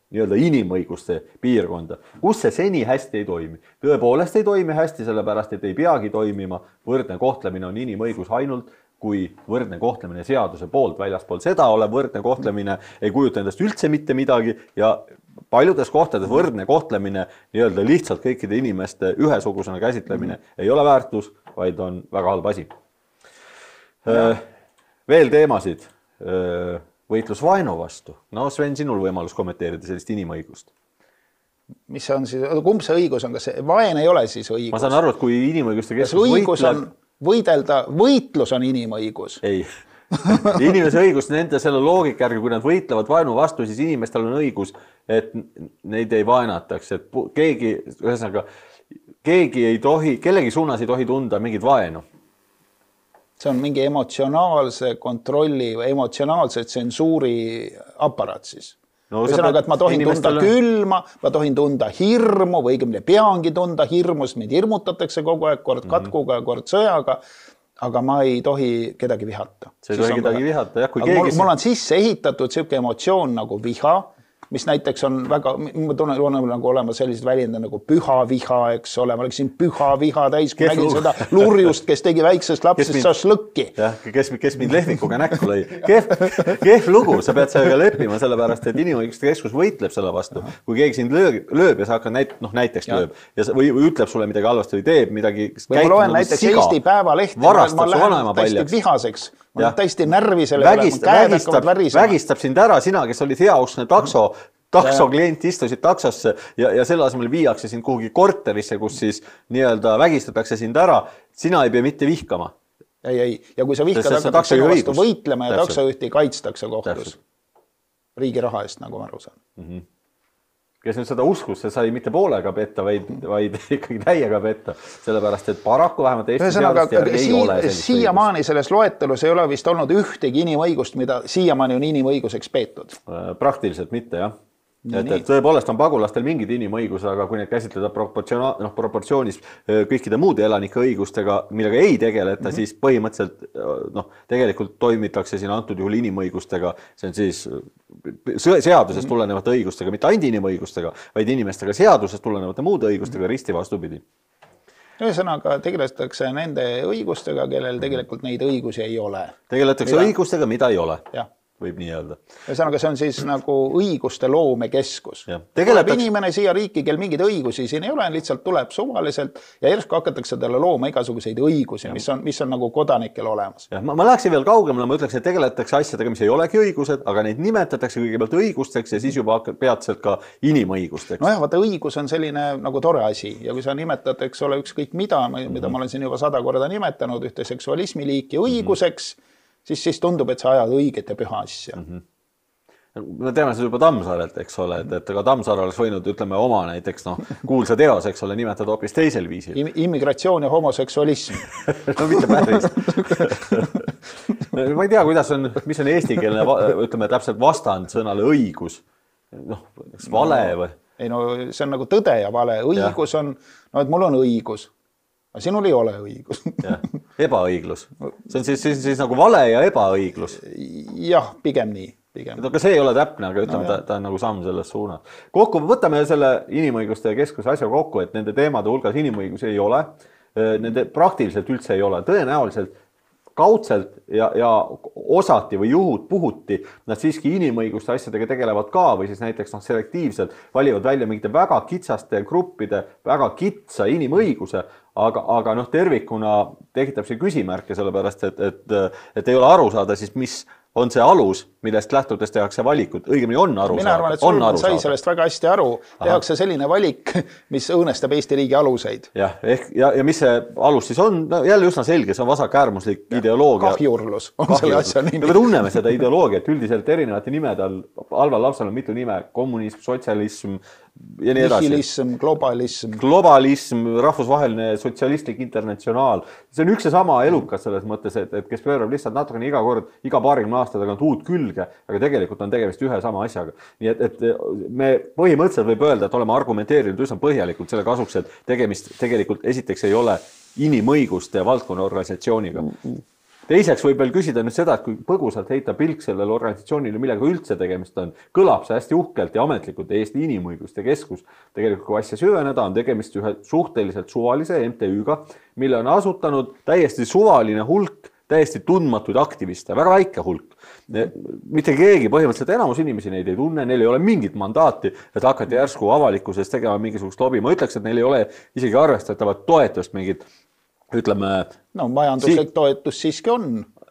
nii-öelda inimõiguste piirkonda, kus see seni hästi ei toimi. Tõepoolest ei toimi hästi, sellepärast, et ei peagi toimima. Võrdne kohtlemine on inimõigus ainult, kui võrdne kohtlemine seaduse poolt väljaspool seda olev võrdne kohtlemine ei kujuta endast üldse mitte midagi ja paljudes kohtades võrdne kohtlemine nii-öelda lihtsalt kõikide inimeste ühesugusena käsitlemine ei ole väärtus, vaid on väga halb asi. Veel teemasid. Võitlus vaenu vastu. No Sven, sinul võimalus kommenteerida sellist inimõigust. Mis on siis, kumb see õigus on? Kas see vaen ei ole siis õigus? Ma saan aru, et kui inimõiguste keskus võitleb... Võidelda, võitlus on inimõigus. Ei. Inimese õigus nende selle loogika järgi, kui nad võitlevad vaenu vastu, siis inimestel on õigus, et neid ei vaenataks. Et keegi, ühesõnaga, keegi ei tohi, kellegi suunas ei tohi tunda mingit vaenu. See on mingi emotsionaalse kontrolli või emotsionaalse tsensuuri aparaat siis. No, ühesõnaga, et ma tohin tunda külma, ma tohin tunda hirmu või õigemini peangi tunda hirmus, meid hirmutatakse kogu aeg kord katkuga ja kord sõjaga, aga ma ei tohi kedagi vihata. See ei tohi kedagi vihata, jah, kui keegi... Mul, mul on sisse ehitatud selline emotsioon nagu viha, mis näiteks on väga, ma tunnen, on nagu olema sellised väljendid nagu püha viha, eks ole, ma oleksin püha viha täis, kui nägin seda lurjust, kes tegi väiksest lapsest šašlõkki. Jah, kes, kes mind lehvikuga näkku lõi. Kehv, kehv lugu, sa pead sellega leppima, sellepärast, et inimõiguste keskus võitleb selle vastu. Kui keegi sind lööb, lööb ja sa hakkad näit, noh, näiteks ja. lööb ja või, või ütleb sulle midagi halvasti või teeb midagi. Või ma loen näiteks siga, Eesti Päevalehti, ma lähen täiesti vihaseks. Ma olen täiesti närvi selle Vägist, vägistab, vägistab sind ära, sina, kes olid heauskne takso, takso klient istusid taksosse ja, ja selle asemel viiakse sind kuhugi korterisse, kus siis nii-öelda vägistatakse sind ära. Sina ei pea mitte vihkama. Ei, ei. Ja kui sa vihkad, hakatakse sinu vastu võitlema ja taksojuhti kaitstakse kohtus. Riigi raha eest, nagu ma aru saan. Mm-hmm. Kes nüüd seda uskus, see sai mitte poolega petta, vaid, vaid ikkagi täiega petta. Sellepärast, et paraku vähemalt Eesti seadust järgi ei ole sellist siiamaani selles loetelus ei ole vist olnud ühtegi inimõigust, mida siiamaani on inimõiguseks peetud. Praktiliselt mitte, jah. Et, et tõepoolest on pagulastel mingid inimõigus, aga kui need käsitleda no, proportsioonis kõikide muude elanike õigustega, millega ei tegeleta, mm-hmm. siis põhimõtteliselt no, tegelikult toimitakse siin antud juhul inimõigustega, see on siis seadusest tulenevate õigustega, mitte ainult inimõigustega, vaid inimestega seadusest tulenevate muude õigustega risti vastupidi. Ühesõnaga tegeletakse nende õigustega, kellel tegelikult neid õigusi ei ole. Tegeletakse mida... õigustega, mida ei ole. Jah. Võib nii öelda. Ühesõnaga, see on siis nagu õiguste loomekeskus. Tegeletakse... Tuleb inimene siia riiki, kel mingeid õigusi siin ei ole, lihtsalt tuleb suvaliselt ja järsku hakatakse talle looma igasuguseid õigusi, mis on, mis on nagu kodanikel olemas. Ja, ma, ma läheksin veel kaugemale, ma ütleks, et tegeletakse asjadega, mis ei olegi õigused, aga neid nimetatakse kõigepealt õigusteks ja siis juba peatselt ka inimõigusteks. Nojah, vaata, õigus on selline nagu tore asi ja kui sa nimetad, eks ole, ükskõik mida, mida mm-hmm. ma olen siin juba sada korda nimetanud, ühte seksualismi liiki õiguseks, mm-hmm. siis, siis tundub, et sa ajad õiget ja püha asja. Mm-hmm. Me teame seda juba Tammsaarelt, eks ole, et, et ka Tammsaar oleks võinud, ütleme, oma näiteks no, kuulsa teos, eks ole, nimetada hoopis teisel viisil. Immigratsioon ja homoseksualism. No mitte päris. Ma ei tea, kuidas on, mis on eestikeelne, ütleme, täpselt vastand sõnale õigus. Noh, vale või? Ei no, see on nagu tõde ja vale. Õigus ja. on, no et mul on õigus. Aga sinul ei ole õigus. Ja, ebaõiglus. See on siis, siis, siis nagu vale ja ebaõiglus. Jah, pigem nii. Pigem. Aga see ei ole täpne, aga ütleme, no, ta, ta on nagu samm selles suunas. Kokku, võtame selle inimõiguste keskuse asja kokku, et nende teemade hulgas inimõigusi ei ole. Nende praktiliselt üldse ei ole. Tõenäoliselt kaudselt ja, ja osati või juhud puhuti, nad siiski inimõiguste asjadega tegelevad ka või siis näiteks noh, selektiivselt valivad välja mingite väga kitsaste gruppide, väga kitsa inimõiguse, aga, aga noh, tervikuna tekitab see küsimärke sellepärast, et, et, et ei ole aru saada siis, mis on see alus, millest lähtudes tehakse valikud, õigemini on aru mina arvan, et Solman sai sellest väga hästi aru, tehakse selline valik, mis õõnestab Eesti riigi aluseid. Jah, ehk, ja, ja mis see alus siis on, no jälle üsna selge, see on vasakäärmuslik ja, ideoloogia. Kahjurlus on Kahjurlus. Selle asja nimi. Me tunneme seda ideoloogiat üldiselt erinevate nimede all, Alvar Lapsal on mitu nime, kommunism, sotsialism ja nii edasi. Nihilism, globalism. Globalism, rahvusvaheline sotsialistlik internatsionaal. See on üks ja sama elukas selles mõttes, et, et kes pöörab lihtsalt natukene iga kord, iga paarikümne aasta tagant uut külge, aga tegelikult on tegemist ühe sama asjaga. Nii et, et me põhimõtteliselt võib öelda, et oleme argumenteerinud üsna põhjalikult selle kasuks, et tegemist tegelikult esiteks ei ole inimõiguste valdkonna organisatsiooniga. Teiseks võib veel küsida nüüd seda, et kui põgusalt heita pilk sellele organisatsioonile, millega üldse tegemist on, kõlab see hästi uhkelt ja ametlikult Eesti Inimõiguste Keskus. Tegelikult kui asja süveneda, on tegemist ühe suhteliselt suvalise M T Ü-ga, mille on asutanud täiesti suvaline hulk, täiesti tundmatuid aktiviste, väga väike hulk. Mitte keegi, põhimõtteliselt enamus inimesi neid ei tunne, neil ei ole mingit mandaati, et hakati järsku avalikkuses tegema mingisugust lobi. Ma ütleks, et neil ei ole isegi arvestatavat toetust mingit, ütleme... No majanduslik si toetus siiski on.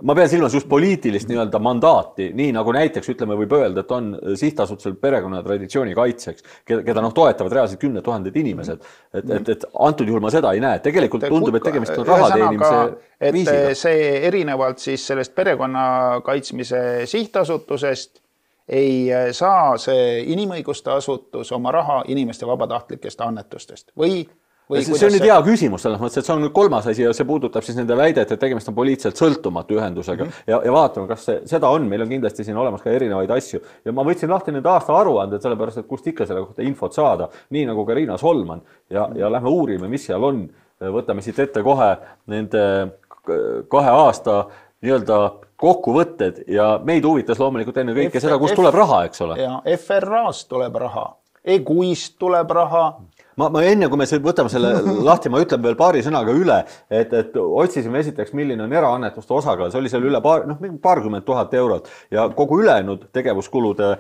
Ma pean silmas just poliitilist nii-öelda mandaati, nii nagu näiteks ütleme võib öelda, et on sihtasutusel perekonna traditsiooni kaitseks, keda noh toetavad reaalselt kümne tuhanded inimesed. Et, et, et antud juhul ma seda ei näe. Tegelikult tundub, et tegemist on raha teenimise viisiga. Et see erinevalt siis sellest perekonna kaitsmise sihtasutusest ei saa see inimõiguste asutus oma raha inimeste vabatahtlikest annetustest või Või see on nüüd hea küsimus selles mõttes, et see on nüüd kolmas asi ja see puudutab siis nende väidet, et tegemist on poliitiliselt sõltumatu ühendusega mm -hmm. ja, ja vaatame, kas see, seda on, meil on kindlasti siin olemas ka erinevaid asju ja ma võtsin lahti nende aasta aruanded, sellepärast, et kust ikka selle kohta infot saada, nii nagu ka Riina Solman ja, mm -hmm. ja lähme uurime, mis seal on, võtame siit ette kohe nende kahe aasta nii-öelda kokkuvõtted ja meid huvitas loomulikult enne kõike seda, kust tuleb raha, eks ole. Ja F R A-st tuleb raha, E G U-ist tuleb raha. Ma, ma enne, kui me võtame selle lahti, ma ütlen veel paari sõnaga üle, et, et otsisime esiteks, milline on eraannetuste osakaal. See oli seal üle paar, noh, paarkümmend tuhat eurot ja kogu ülejäänud tegevuskulude,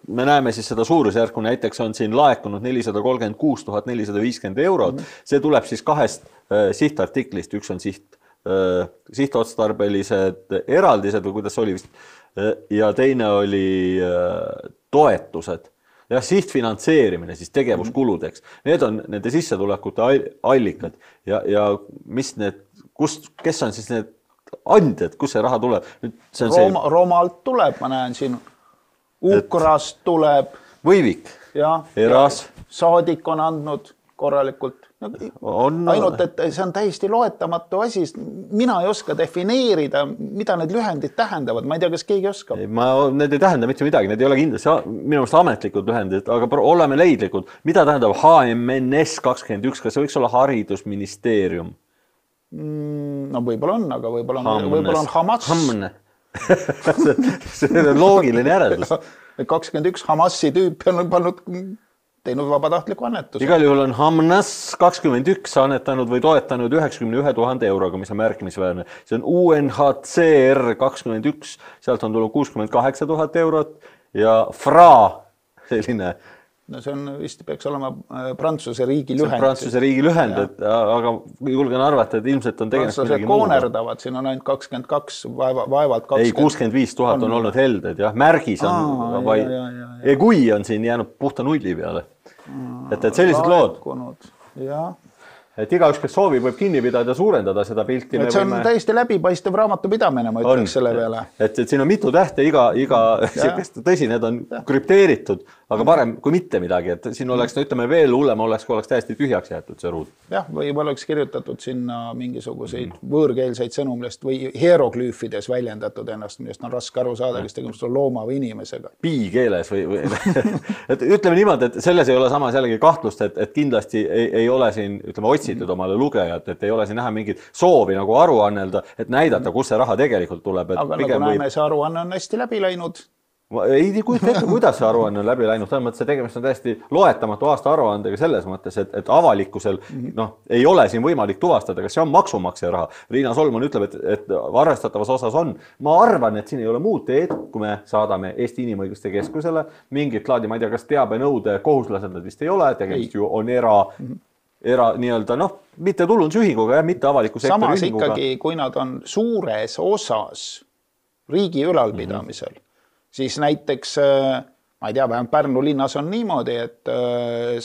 me näeme siis seda suurusjärku, näiteks on siin laekunud nelisada kolmkümmend kuus tuhat nelisada viiskümmend eurot. See tuleb siis kahest sihtartiklist, üks on siht, sihtotstarbelised eraldised või kuidas oli vist, ja teine oli toetused. Ja sihtfinantseerimine siis tegevuskuludeks. Need on nende sissetulekute allikad ja, ja mis need, kus, kes on siis need andjad, kus see raha tuleb? See on Rooma, see... Roomalt tuleb, ma näen siin, Ukrast et... tuleb. Võivik, ja, Eras. Ja saadik on andnud korralikult. No, on, ainult, et see on täiesti loetamatu asi. Mina ei oska defineerida, mida need lühendid tähendavad. Ma ei tea, kas keegi oskab. Ma, need ei tähenda mitte midagi. Need ei ole kindlasti minu meelest ametlikud lühendid, aga oleme leidlikud. Mida tähendab H M N S kakskümmend üks? Kas see võiks olla haridusministeerium? No võib-olla on, aga võib-olla on, võib on Hamas. Hamne. See on loogiline järeldus. kakskümmend üks Hamasi tüüp on pannud... teinud vabatahtliku annetuse. Igal juhul on Hamnas kakskümmend üks annetanud või toetanud üheksakümne ühe tuhande euroga, mis on märkimisväärne. See on U N H C R kakskümmend üks, sealt on tulnud kuuskümmend kaheksa tuhat eurot ja F R A, selline... No see on vist peaks olema Prantsuse riigi lühend. Prantsuse riigi lühend, et, aga julgen arvata, et ilmselt on tegemist midagi muuga. Koonerdavad, siin on ainult kakskümmend kaks, vaevalt kakskümmend. Ei, kuuskümmend viis tuhat on olnud helded, jah. Märgis on, Aa, vai... ja, ja, ja, ja. E G U I on siin jäänud puhta nulli peale. Et, et sellised lood. Jah. Et igaüks, kes soovib, võib kinni pidada ja suurendada seda pilti. Et see on võime... täiesti läbipaistev raamatupidamine, ma ütleks selle peale. Et, et siin on mitu tähte, iga, iga tõsi, need on ja. krüpteeritud, aga parem kui mitte midagi. Et siin oleks, no ütleme veel hullem, oleks, kui oleks täiesti tühjaks jäetud see ruud. Jah, või oleks kirjutatud sinna mingisuguseid mm. võõrkeelseid sõnumlest või hieroglüüfides väljendatud ennast, millest on raske aru saada, kes tegemist on looma või inimesega. Piikeeles või, või... et ütleme niimoodi, et selles ei ole samas jällegi kahtlust, et, et kindlasti ei, ei ole siin, ütleme, otsitud omale lugejat, et ei ole siin näha mingit soovi nagu aru annelda, et näidata, kus see raha tegelikult tuleb. Et aga nagu näeme, või... see aruanne on hästi läbi läinud. Ma ei tea, kuidas see aruanne on läbi läinud. Selles mõttes, et tegemist on täiesti loetamatu aasta aruandega selles mõttes, et, et avalikkusel noh, ei ole siin võimalik tuvastada, kas see on maksumaksja raha. Riina Solman ütleb, et, et arvestatavas osas on. Ma arvan, et siin ei ole muud teed, kui me saadame Eesti Inimõiguste Keskusele mingit laadi, ma ei tea, kas teabenõude kohuslased nad vist ei ole, tegemist ei. Ju on era... era nii-öelda, noh, mitte tulundusühinguga ja mitte avaliku sektori samas ühinguga. Ikkagi, kui nad on suures osas riigi ülalpidamisel, mm-hmm. siis näiteks, ma ei tea, vähemalt Pärnu linnas on niimoodi, et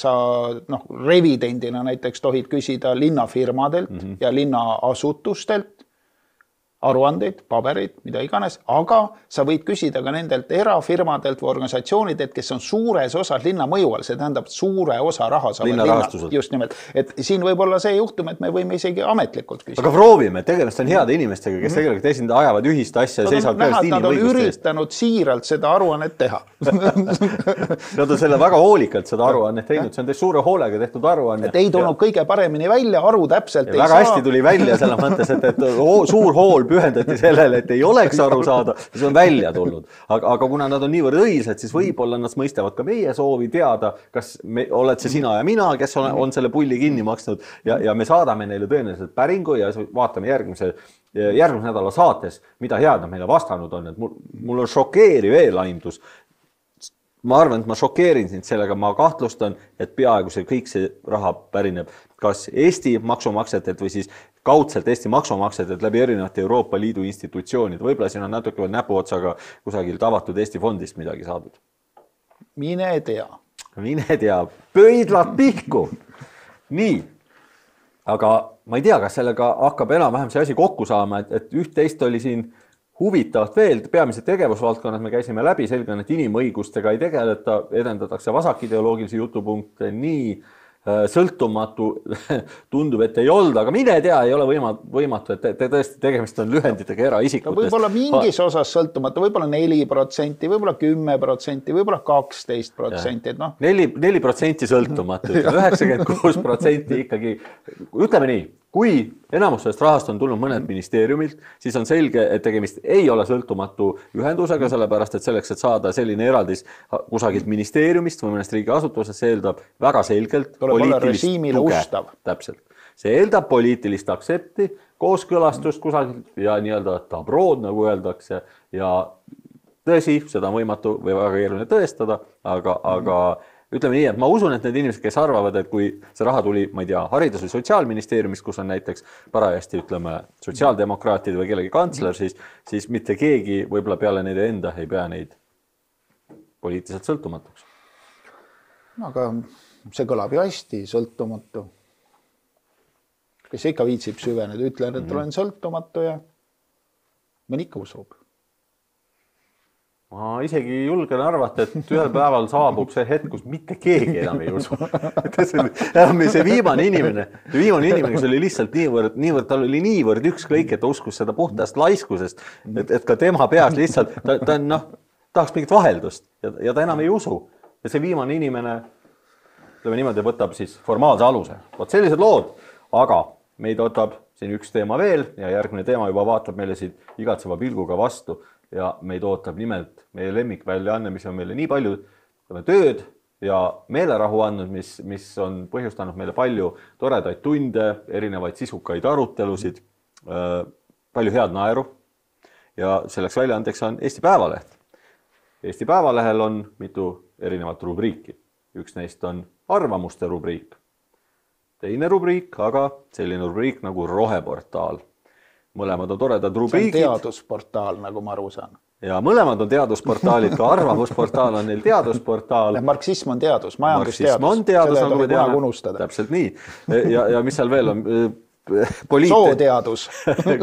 sa noh, revidendina näiteks tohid küsida linnafirmadelt mm -hmm. ja linnaasutustelt aruandeid, paberid, mida iganes, aga sa võid küsida ka nendelt erafirmadelt või organisatsioonidelt, kes on suures osas linna mõju all, see tähendab suure osa raha saavad linnad. Just nimelt, et siin võib olla see juhtum, et me võime isegi ametlikult küsida. Aga proovime, tegemist on heade inimestega, kes tegelikult esinda ajavad ühist asja ja seisavad peast inimõiguste eest. Nad on üritanud siiralt seda aruannet teha. Nad on selle väga hoolikalt seda aruannet teinud, see on teist suure hoolega tehtud aruanne. Et ei tulnud kõige paremini välja, aru täpselt ei saa. Väga hästi tuli välja selles mõttes, et, et suur hool pühendati sellele, et ei oleks aru saada, see on välja tulnud. Aga, aga kuna nad on niivõrd õilsed, siis võib-olla nad mõistavad ka meie soovi teada, kas me, oled see sina ja mina, kes on, on selle pulli kinni maksnud ja, ja me saadame neile tõenäoliselt päringu ja vaatame järgmise, järgmise nädala saates, mida head nad meile vastanud on. Et mul, mul on šokeeriv eelaimdus. Ma arvan, et ma šokeerin sind sellega, ma kahtlustan, et peaaegu see kõik see raha pärineb kas Eesti maksumaksjatelt või siis kaudselt Eesti maksumaksjatelt läbi erinevate Euroopa Liidu institutsioonid. Võib-olla siin on natuke näpuotsaga kusagilt avatud Eesti fondist midagi saadud. Mine tea. Mine tea. Pöidlad pihku. Nii. Aga ma ei tea, kas sellega hakkab enam-vähem see asi kokku saama, et, et üht-teist oli siin huvitavalt veel, peamised tegevusvaldkonnad me käisime läbi, selge, et inimõigustega ei tegeleta, edendatakse vasakideoloogilisi jutupunkte, nii sõltumatu tundub, et ei olnud, aga mine tea, ei ole võimatu, et te, te tõesti tegemist on lühenditega eraisikutest. No võib-olla mingis osas sõltumatu, võib-olla neli protsenti, võib-olla kümme protsenti, võib-olla kaksteist protsenti. No. neli protsenti sõltumatu, üheksakümmend kuus protsenti ikkagi, ütleme nii, kui enamus sellest rahast on tulnud mõned ministeeriumilt, siis on selge, et tegemist ei ole sõltumatu ühendusega, sellepärast, et selleks, et saada selline eraldis kusagilt ministeeriumist või mõnest riigiasutusest, see eeldab väga selgelt poliitilist tuge. Täpselt. See eeldab poliitilist aksepti, kooskõlastust kusagilt ja nii-öelda tabrood, nagu öeldakse, ja tõsi, seda on võimatu või väga keeruline tõestada, aga, aga ütleme nii, et ma usun, et need inimesed, kes arvavad, et kui see raha tuli, ma ei tea, haridus- või sotsiaalministeeriumist, kus on näiteks parajasti, ütleme, sotsiaaldemokraatid või kellegi kantsler, siis, siis mitte keegi võib-olla peale neile enda ei pea neid poliitiliselt sõltumatuks. No, aga see kõlab ju hästi, sõltumatu. Kes ikka viitsib süveneda, ütlen, et olen sõltumatu ja mõni ikka usub. Ma isegi julgen arvata, et ühel päeval saabub see hetk, kus mitte keegi enam ei usu. See viimane inimene, viimane inimene, kes oli lihtsalt niivõrd, niivõrd, tal oli niivõrd ükskõik, et ta uskus seda puhtast laiskusest, et, et ka tema peas lihtsalt, ta, ta noh, tahaks mingit vaheldust ja, ja ta enam ei usu. Ja see viimane inimene, ütleme niimoodi, võtab siis formaalse aluse. Võt sellised lood, aga meid võtab siin üks teema veel ja järgmine teema juba vaatab meile siit igatseva pilguga vastu. Ja meid ootab nimelt meie lemmikväljaanne, mis on meile nii palju tööd ja meelerahu andnud, mis, mis on põhjustanud meile palju toredaid tunde, erinevaid sisukaid arutelusid, palju head naeru ja selleks väljaandeks on Eesti Päevaleht. Eesti Päevalehel on mitu erinevat rubriiki. Üks neist on arvamuste rubriik. Teine rubriik, aga selline rubriik nagu roheportaal. Mõlemad on toredad rubriigid. See on teadusportaal, nagu ma aru saan. Ja mõlemad on teadusportaalid, ka arvamusportaal on neil teadusportaal. Marksism on teadus, majandusteadus. Marksism on teadus, nagu me teame. Täpselt nii. Ja, ja mis seal veel on? Poliit... Sooteadus.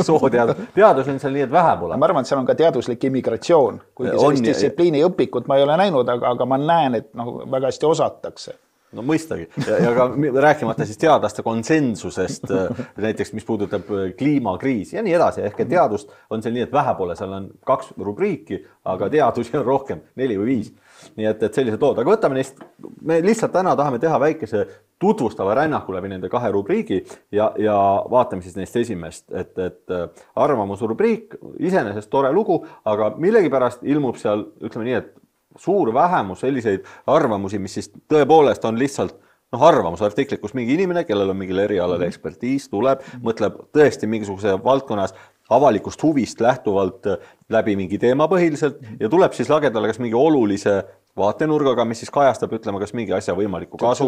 Sooteadus. Teadus on seal nii, et vähe pole. Ma arvan, et seal on ka teaduslik immigratsioon. Kuigi sellist distsipliini õpikut ma ei ole näinud, aga, aga ma näen, et noh, väga hästi osatakse. No mõistagi. Ja, ja ka rääkimata siis teadlaste konsensusest, näiteks mis puudutab kliimakriisi ja nii edasi. Ehk et teadust on seal nii, et vähe pole, seal on kaks rubriiki, aga teadusi on rohkem, neli või viis. Nii et, et sellised lood. Aga võtame neist, me lihtsalt täna tahame teha väikese tutvustava rännaku läbi nende kahe rubriigi ja, ja vaatame siis neist esimest, et, et arvamusrubriik, iseenesest tore lugu, aga millegipärast ilmub seal, ütleme nii, et suur vähemus selliseid arvamusi, mis siis tõepoolest on lihtsalt noh, arvamusartiklik, kus mingi inimene, kellel on mingil erialal ekspertiis, tuleb, mõtleb tõesti mingisuguse valdkonnas avalikust huvist lähtuvalt läbi mingi teema põhiliselt ja tuleb siis lagedale kas mingi olulise vaatenurgaga, mis siis kajastab, ütleme, kas mingi asja võimalikku kasu,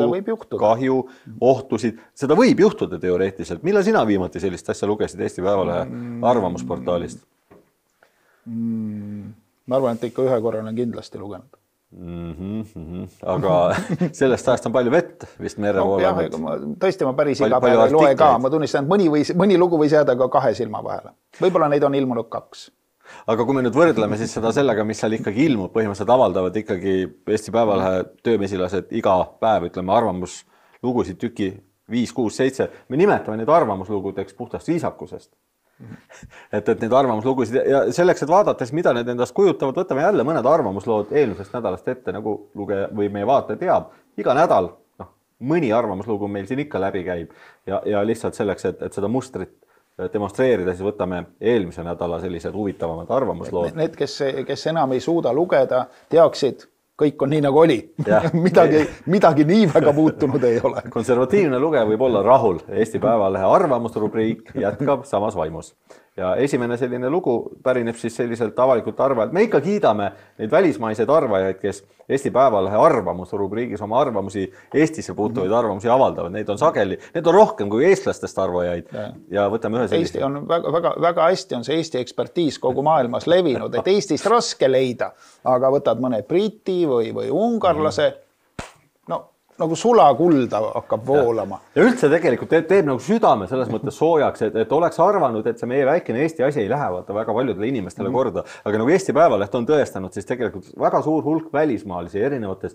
kahju, ohtusid. Seda võib juhtuda teoreetiliselt. Millal sina viimati sellist asja lugesid Eesti Päevalehe arvamusportaalist? Mm. ma arvan, et ikka ühe korra olen kindlasti lugenud. Mm -hmm, mm -hmm. Aga sellest ajast on palju vett vist mere no, poole. jah, ma, tõesti ma päris iga päev ei loe ka, ma tunnistan, et mõni, või, mõni lugu võis jääda ka kahe silma vahele. Võib-olla neid on ilmunud kaks. Aga kui me nüüd võrdleme siis seda sellega, mis seal ikkagi ilmub, põhimõtteliselt avaldavad ikkagi Eesti Päevalehe töömesilased iga päev, ütleme, arvamuslugusid tüki viis, kuus, seitse. Me nimetame neid arvamuslugudeks puhtast viisakusest. et, et neid arvamuslugusid ja selleks, et vaadates, mida need endast kujutavad, võtame jälle mõned arvamuslood eelmisest nädalast ette, nagu lugeja või meie vaataja teab. Iga nädal noh, mõni arvamuslugu meil siin ikka läbi käib ja, ja lihtsalt selleks, et, et seda mustrit demonstreerida, siis võtame eelmise nädala sellised huvitavamad arvamuslood. Need, kes, kes enam ei suuda lugeda, teaksid, kõik on nii nagu oli. midagi, midagi nii väga muutunud ei ole. Konservatiivne lugeja võib olla rahul. Eesti Päevalehe arvamusrubriik jätkab samas vaimus. Ja esimene selline lugu pärineb siis selliselt avalikult arvajalt. Me ikka kiidame neid välismaiseid arvajaid, kes Eesti Päevalehe arvamusrubriigis oma arvamusi, Eestisse puutuvaid arvamusi avaldavad. Neid on sageli, need on rohkem kui eestlastest arvajaid. Ja, ja võtame ühe sellise. Eesti on väga, väga, väga hästi on see Eesti ekspertiis kogu maailmas levinud, et Eestist raske leida, aga võtad mõne briti või, või ungarlase, no nagu sulakulda hakkab voolama. Ja üldse tegelikult teeb, teeb nagu südame selles mõttes soojaks, et, et oleks arvanud, et see meie väikene Eesti asi ei lähe vaata väga paljudele inimestele mm. korda. Aga nagu Eesti Päevaleht on tõestanud, siis tegelikult väga suur hulk välismaalisi erinevates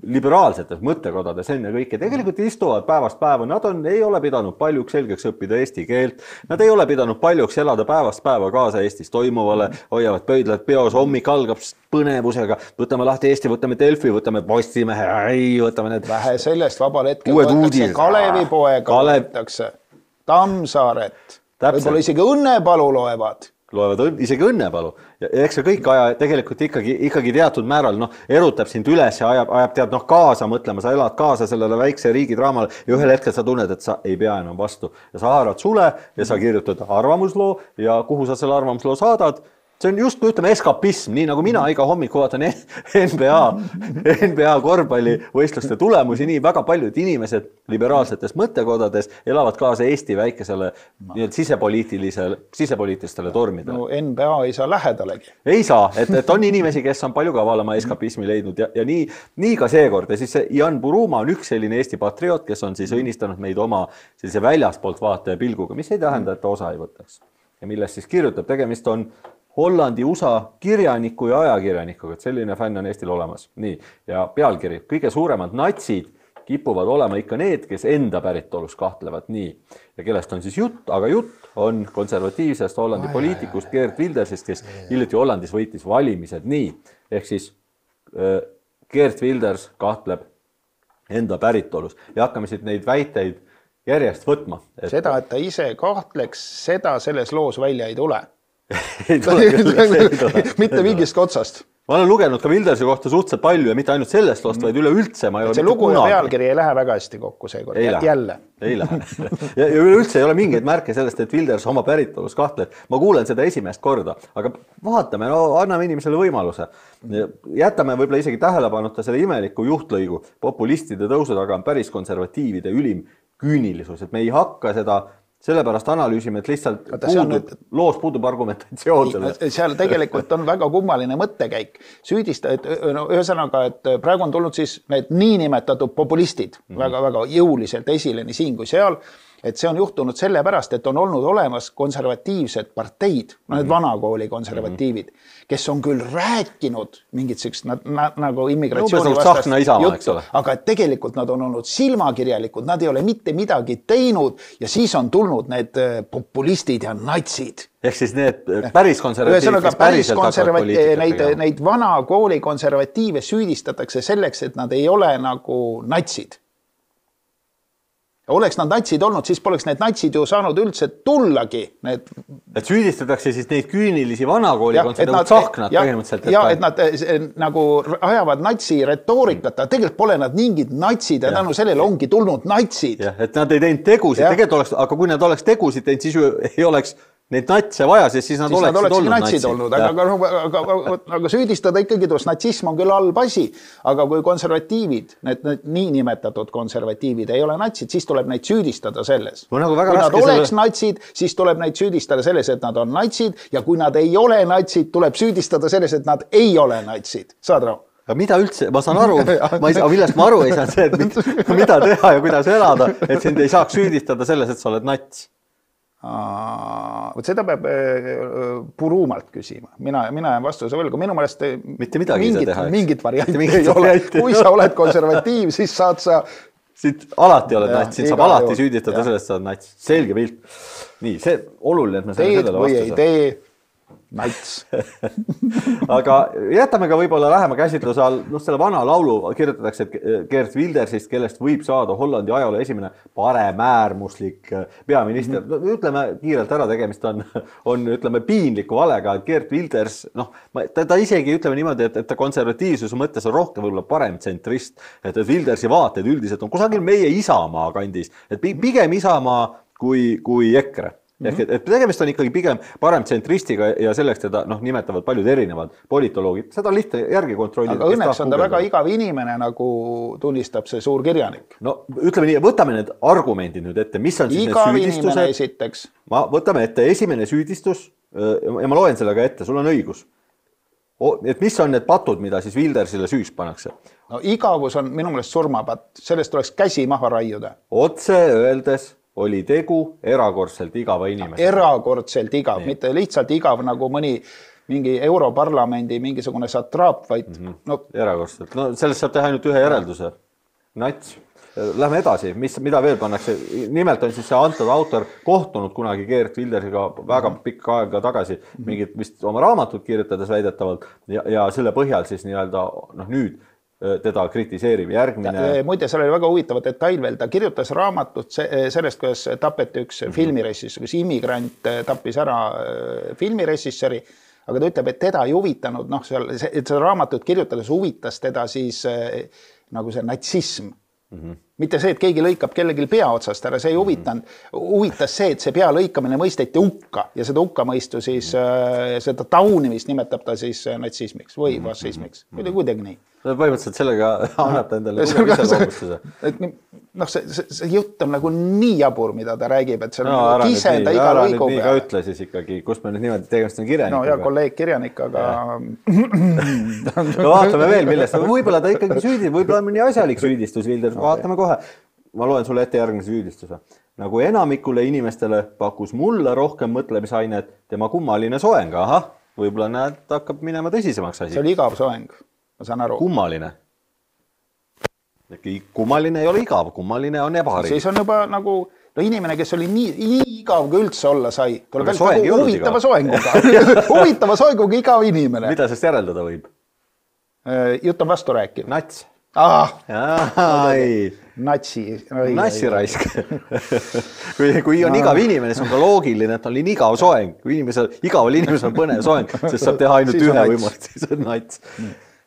liberaalsetes mõttekodades enne kõike tegelikult istuvad päevast päeva. Nad on, ei ole pidanud paljuks selgeks õppida eesti keelt. Nad ei ole pidanud paljuks elada päevast päeva kaasa Eestis toimuvale, hoiavad pöidlad peos, hommik algab põnevusega. Võtame lahti Eesti, võtame Delfi, võtame Postimehe, võtame need vähe sellest vabal hetkel võetakse Kalevi poega, võetakse Tammsaaret, võib-olla isegi Õnnepalu loevad. Loevad isegi Õnnepalu. Ja eks see kõik aja tegelikult ikkagi, ikkagi teatud määral no, erutab sind üles ja ajab, ajab tead noh, kaasa mõtlema, sa elad kaasa sellele väikse riigidraamale ja ühel hetkel sa tunned, et sa ei pea enam vastu. Ja sa haarad sule ja sa kirjutad arvamusloo ja kuhu sa selle arvamusloo saadad. See on just, kui ütleme, eskapism, nii nagu mina iga hommiku vaatan N B A, N B A korvpallivõistluste tulemusi, nii väga paljud inimesed liberaalsetes mõttekodades elavad kaasa Eesti väikesele no. sisepoliitilisele, sisepoliitilistele tormidele. No N B A ei saa lähedalegi. Ei saa, et, et on inimesi, kes on palju kavalama eskapismi leidnud ja, ja nii, nii ka seekord. Ja siis Jan Buruma on üks selline Eesti patrioot, kes on siis õnnistanud meid oma sellise väljaspoolt vaataja pilguga, mis ei tähenda, et ta osa ei võtaks. Ja millest siis kirjutab, tegemist on Hollandi U S A kirjaniku ja ajakirjanikuga, et selline fänn on Eestil olemas. Nii, ja pealkiri, kõige suuremad natsid kipuvad olema ikka need, kes enda päritolus kahtlevad. Nii, ja kellest on siis jutt, aga jutt on konservatiivsest Hollandi ai, poliitikust ai, ai. Geert Wildersist, kes hiljuti Hollandis võitis valimised. Nii, ehk siis äh, Geert Wilders kahtleb enda päritolus ja hakkame siit neid väiteid järjest võtma. Et... Seda, et ta ise kahtleks, seda selles loos välja ei tule. ei tule küll, ei tule. mitte mingist otsast. Ma olen lugenud ka Wildersi kohta suhteliselt palju ja mitte ainult sellest lost, vaid üleüldse. Ma ei ole see lugu ja pealkiri ei lähe väga hästi kokku seekord. Ei lähe. Jälle. Ei lähe. Ja, ja üleüldse ei ole mingeid märke sellest, et Wilders oma päritolus kahtleb. Ma kuulen seda esimest korda, aga vaatame, no anname inimesele võimaluse. Jätame võib-olla isegi tähelepanuta selle imeliku juhtlõigu. Populistide tõusu taga on päris konservatiivide ülim küünilisus, et me ei hakka seda sellepärast analüüsime, et lihtsalt puudub, nüüd... loos puudub argumentatsioon. Seal tegelikult on väga kummaline mõttekäik. Süüdista, et no, ühesõnaga, et praegu on tulnud siis need niinimetatud populistid mm-hmm. väga, väga jõuliselt esile nii siin kui seal, et see on juhtunud sellepärast, et on olnud olemas konservatiivsed parteid, no need vanakooli konservatiivid, kes on küll rääkinud mingit sellist na, na, nagu immigratsiooni no, vastast juttu, aga tegelikult nad on olnud silmakirjalikud, nad ei ole mitte midagi teinud ja siis on tulnud need populistid ja natsid. Ehk siis need päris konservatiivid, kes päriselt hakkavad poliitikat neid, neid vanakooli konservatiive süüdistatakse selleks, et nad ei ole nagu natsid. Oleks nad natsid olnud, siis poleks need natsid ju saanud üldse tullagi. Need... Et süüdistatakse siis neid küünilisi vanakooli konservatiivid tsahknad põhimõtteliselt. Ja, et nad nagu ajavad natsi retoorikat, aga tegelikult pole nad mingid natsid ja tänu sellele ongi tulnud natsid. Ja, et nad ei teinud tegusid, tegelikult oleks, aga kui nad oleks tegusid teinud, siis ju ei oleks neid natse vaja, siis nad siis oleksid nad olnud natsid. Olnud, aga, aga, aga, aga süüdistada ikkagi tuossa natsism on küll halb asi, aga kui konservatiivid, need, need niinimetatud konservatiivid ei ole natsid, siis tuleb neid süüdistada selles. No, nagu väga kui nad oleks selle... natsid, siis tuleb neid süüdistada selles, et nad on natsid ja kui nad ei ole natsid, tuleb süüdistada selles, et nad ei ole natsid. Saad rahu? Aga mida üldse, ma saan aru, ma ei saa, millest ma aru ei saa see, et mida teha ja kuidas elada, et sind ei saaks süüdistada selles, et sa oled nats. Võt seda peab puruumalt küsima. Mina, mina jään vastuse võlgu. Minu mõelest mitte midagi mingit, teha, mingit varianti ei ole. Kui sa oled konservatiiv, siis saad sa... Siit alati oled nats, sind saab alati juhu. Süüdistada ja. Sellest, sa oled nats. Selge pilt. Nii, see oluline, et me teed või ei tee. Nats. Aga jätame ka võib-olla lähema käsitluse all, noh, selle vana laulu kirjutatakse, et Geert Wildersist, kellest võib saada Hollandi ajaloo esimene paremäärmuslik peaminister. Mm -hmm. Ütleme kiirelt ära, tegemist on, on ütleme, piinliku valega, et Geert Wilders, noh, ta, ta isegi ütleme niimoodi, et, et ta konservatiivsuse mõttes on rohkem võib-olla parem tsentrist, et, et Wildersi vaated üldiselt on kusagil meie Isamaa kandis, et pigem Isamaa kui, kui EKRE. Ehk et, et tegemist on ikkagi pigem parem tsentristiga ja selleks teda noh, nimetavad paljud erinevad politoloogid. Seda on lihtne järgi kontrollida. Aga õnneks on ta väga igav inimene, nagu tunnistab see suur kirjanik. No ütleme nii, võtame need argumendid nüüd ette. Mis on siis igav need süüdistused? Inimene esiteks. Ma võtame ette esimene süüdistus ja ma loen selle ka ette. Sul on õigus. Et mis on need patud, mida siis Wildersile süüs pannakse? No igavus on minu meelest surmapatt. Sellest tuleks käsi maha raiuda. Otse öeldes oli tegu erakordselt igava inimese. Erakordselt igav, nii. Mitte lihtsalt igav nagu mõni mingi Europarlamendi mingisugune satraap, vaid mm -hmm. no... erakordselt. No sellest saab teha ainult ühe järelduse. Nats. Lähme edasi. Mis, mida veel pannakse? Nimelt on siis see antud autor kohtunud kunagi Geert Wildersiga väga mm -hmm. pikka aega tagasi, mingit vist oma raamatut kirjutades väidetavalt ja, ja selle põhjal siis nii-öelda noh nüüd teda kritiseerib järgmine. Muide, seal oli väga huvitava detail veel. Ta kirjutas raamatut sellest, kuidas tapeti üks mm -hmm. filmiressissöör, kus immigrant tappis ära filmiressissööri, aga ta ütleb, et teda ei huvitanud, noh, seal, et seda raamatut kirjutades huvitas teda siis nagu see natsism. Mm -hmm. Mitte see, et keegi lõikab kellelgi pea otsast ära, see ei huvitanud. Huvitas see, et see pea lõikamine mõisteti hukka ja seda hukkamõistu siis, seda taunimist nimetab ta siis natsismiks või fašismiks. Kuidagi nii. Põhimõtteliselt sellega annab ta endale iseloomustuse. Noh, see, see, see jutt on nagu nii jabur, mida ta räägib, et see on no, nagu kisenda iga lõigu peale. Ära nüüd nii ka ütle siis ikkagi, kus me nüüd niimoodi tegemist on kirjanikuga. No ja kolleeg kirjanik, aga... no vaatame veel, millest. Võib-olla ta ikkagi süüdi, võib-olla on mõni asjalik süüdistus, Wilders. Vaatame kohe. Ma loen sulle ette järgmise süüdistuse. Nagu enamikule inimestele pakkus mulle rohkem mõtlemisainet tema kummaline soeng. Ahah, võib-olla näed, hakkab minema tõsisemaks asi. See oli igav soeng. Ma saan aru. Kummaline. Kummaline ei ole igav, kummaline on ebahari. Siis on juba nagu no inimene, kes oli nii, nii igav, kui üldse olla sai. Tuleb nagu huvitava soenguga. huvitava soenguga igav inimene. Mida sest järeldada võib? Jutt on vastu rääkiv. Nats. Ah, ai. Natsi. Natsi raisk. kui, kui on igav inimene, see on ka loogiline, et on nii igav soeng. Kui inimesel, igaval inimesel on põnev soeng, sest saab teha ainult ühe võimalust, siis on nats.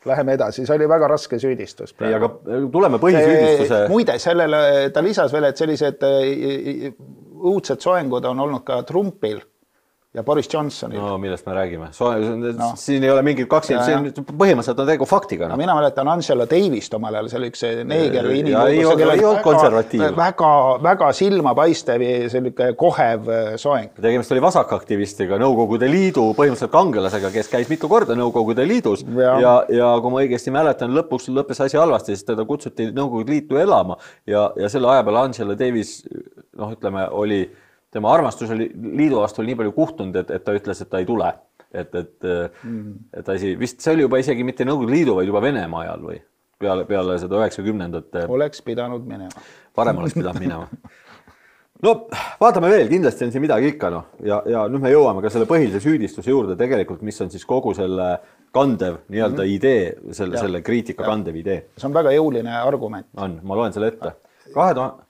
Läheme edasi, see oli väga raske süüdistus. Ei, aga tuleme põhisüüdistuse. Muide, sellele ta lisas veel, et sellised õudsed soengud on olnud ka Trumpil ja Boris Johnsonil. No, millest me räägime? No. Siin ei ole mingit kaksi, põhimõtteliselt on tegu faktiga. No, mina mäletan Angela Davist omal ajal, see oli üks neeger inimene. Ja ei olnud konservatiiv. Väga, väga silmapaistev selline kohev soeng. Tegemist oli vasakaktivistiga, Nõukogude Liidu põhimõtteliselt kangelasega, kes käis mitu korda Nõukogude Liidus ja, ja, ja kui ma õigesti mäletan, lõpuks lõppes asi halvasti, siis teda kutsuti Nõukogude Liitu elama ja, ja selle aja peal Angela Davis, noh, ütleme, oli tema armastus oli liidu vastu oli nii palju kuhtunud, et, et ta ütles, et ta ei tule. Et, et, mm. et ta isi, vist see oli juba isegi mitte Nõukogude Liidu, vaid juba Venemaa ajal või peale, peale seda üheksakümnendate. Oleks pidanud minema. Parem oleks pidanud minema. No vaatame veel, kindlasti on siin midagi ikka. No. Ja, ja nüüd me jõuame ka selle põhilise süüdistuse juurde tegelikult, mis on siis kogu selle kandev nii-öelda mm. idee, selle, selle kriitika ja. Kandev idee. See on väga jõuline argument. On, ma loen selle ette. kahe tuhande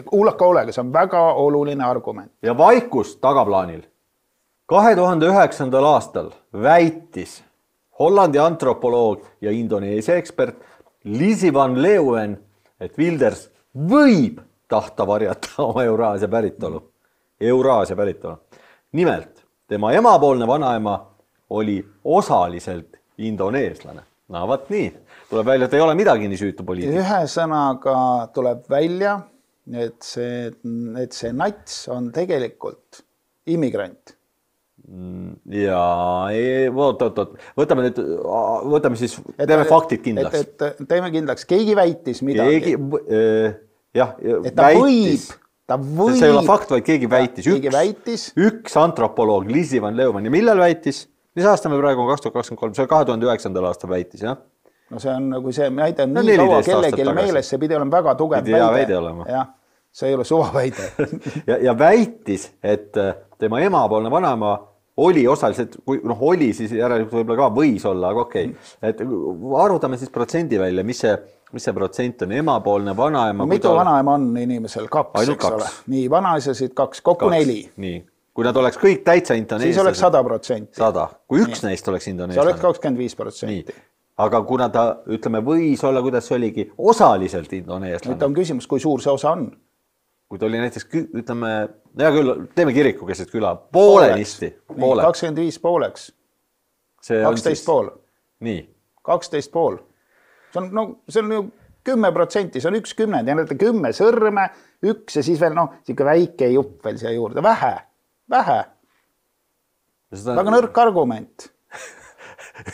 Kuulaka olega, see on väga oluline argument. Ja vaikus tagaplaanil. kahe tuhande üheksandal aastal väitis Hollandi antropoloog ja Indoneesia ekspert Liisi van Leeuwen, et Wilders võib tahta varjata oma Euraasia päritolu. Euraasia päritolu. Nimelt, tema emapoolne vanaema oli osaliselt indoneeslane. no vaat nii, tuleb välja, et ei ole midagi nii süütu poliitik. Ühesõnaga tuleb välja, et see, et see nats on tegelikult immigrant. Ja oot, oot, oot. Võtame nüüd, võtame siis, teeme et, faktid kindlaks. Et, et teeme kindlaks, keegi väitis midagi. Keegi, jah, et ta väitis. võib, ta võib. See ei ole fakt, vaid keegi väitis. Keegi üks, väitis. Üks antropoloog, Liisi van Leumann, ja millal väitis? Mis aasta me praegu on kaks tuhat kakskümmend kolm, see kahe tuhande üheksandal aastal väitis, jah? No see on, kui see näide on no, nii kaua kellelgi meeles, see pidi olema väga tugev pidi väide. Ja, see ei ole suva väide. ja, ja väitis, et tema emapoolne vanaema oli osaliselt, kui noh, oli siis järelikult võib-olla ka võis olla, aga okei. Okay. Et arvutame siis protsendi välja, mis see, mis see protsent on emapoolne vanaema. Mitu vanaema on inimesel? Kaks, eks kaks. Ole. Nii, vanaisasid kaks, kokku kaks. Neli. Nii. Kui nad oleks kõik täitsa indoneeslased. Siis oleks sada protsenti. Sada. Kui üks nii. Neist oleks indoneeslane. See oleks kakskümmend viis protsenti. Aga kuna ta, ütleme, võis olla, kuidas see oligi, osaliselt indoneeslane. Nüüd on küsimus, kui suur see osa on. Kui ta oli näiteks, ütleme, hea küll, teeme kiriku keset küla, poolenisti. Poole. kakskümmend viis pooleks. kaksteist pool. Nii. kaksteist pool. See on, no, see on ju kümme protsenti, see on üks kümnend ja näete kümme sõrme, üks ja siis veel, noh, siuke väike jupp veel siia juurde. Vähe. Vähe. Seda... Väga nõrk argument.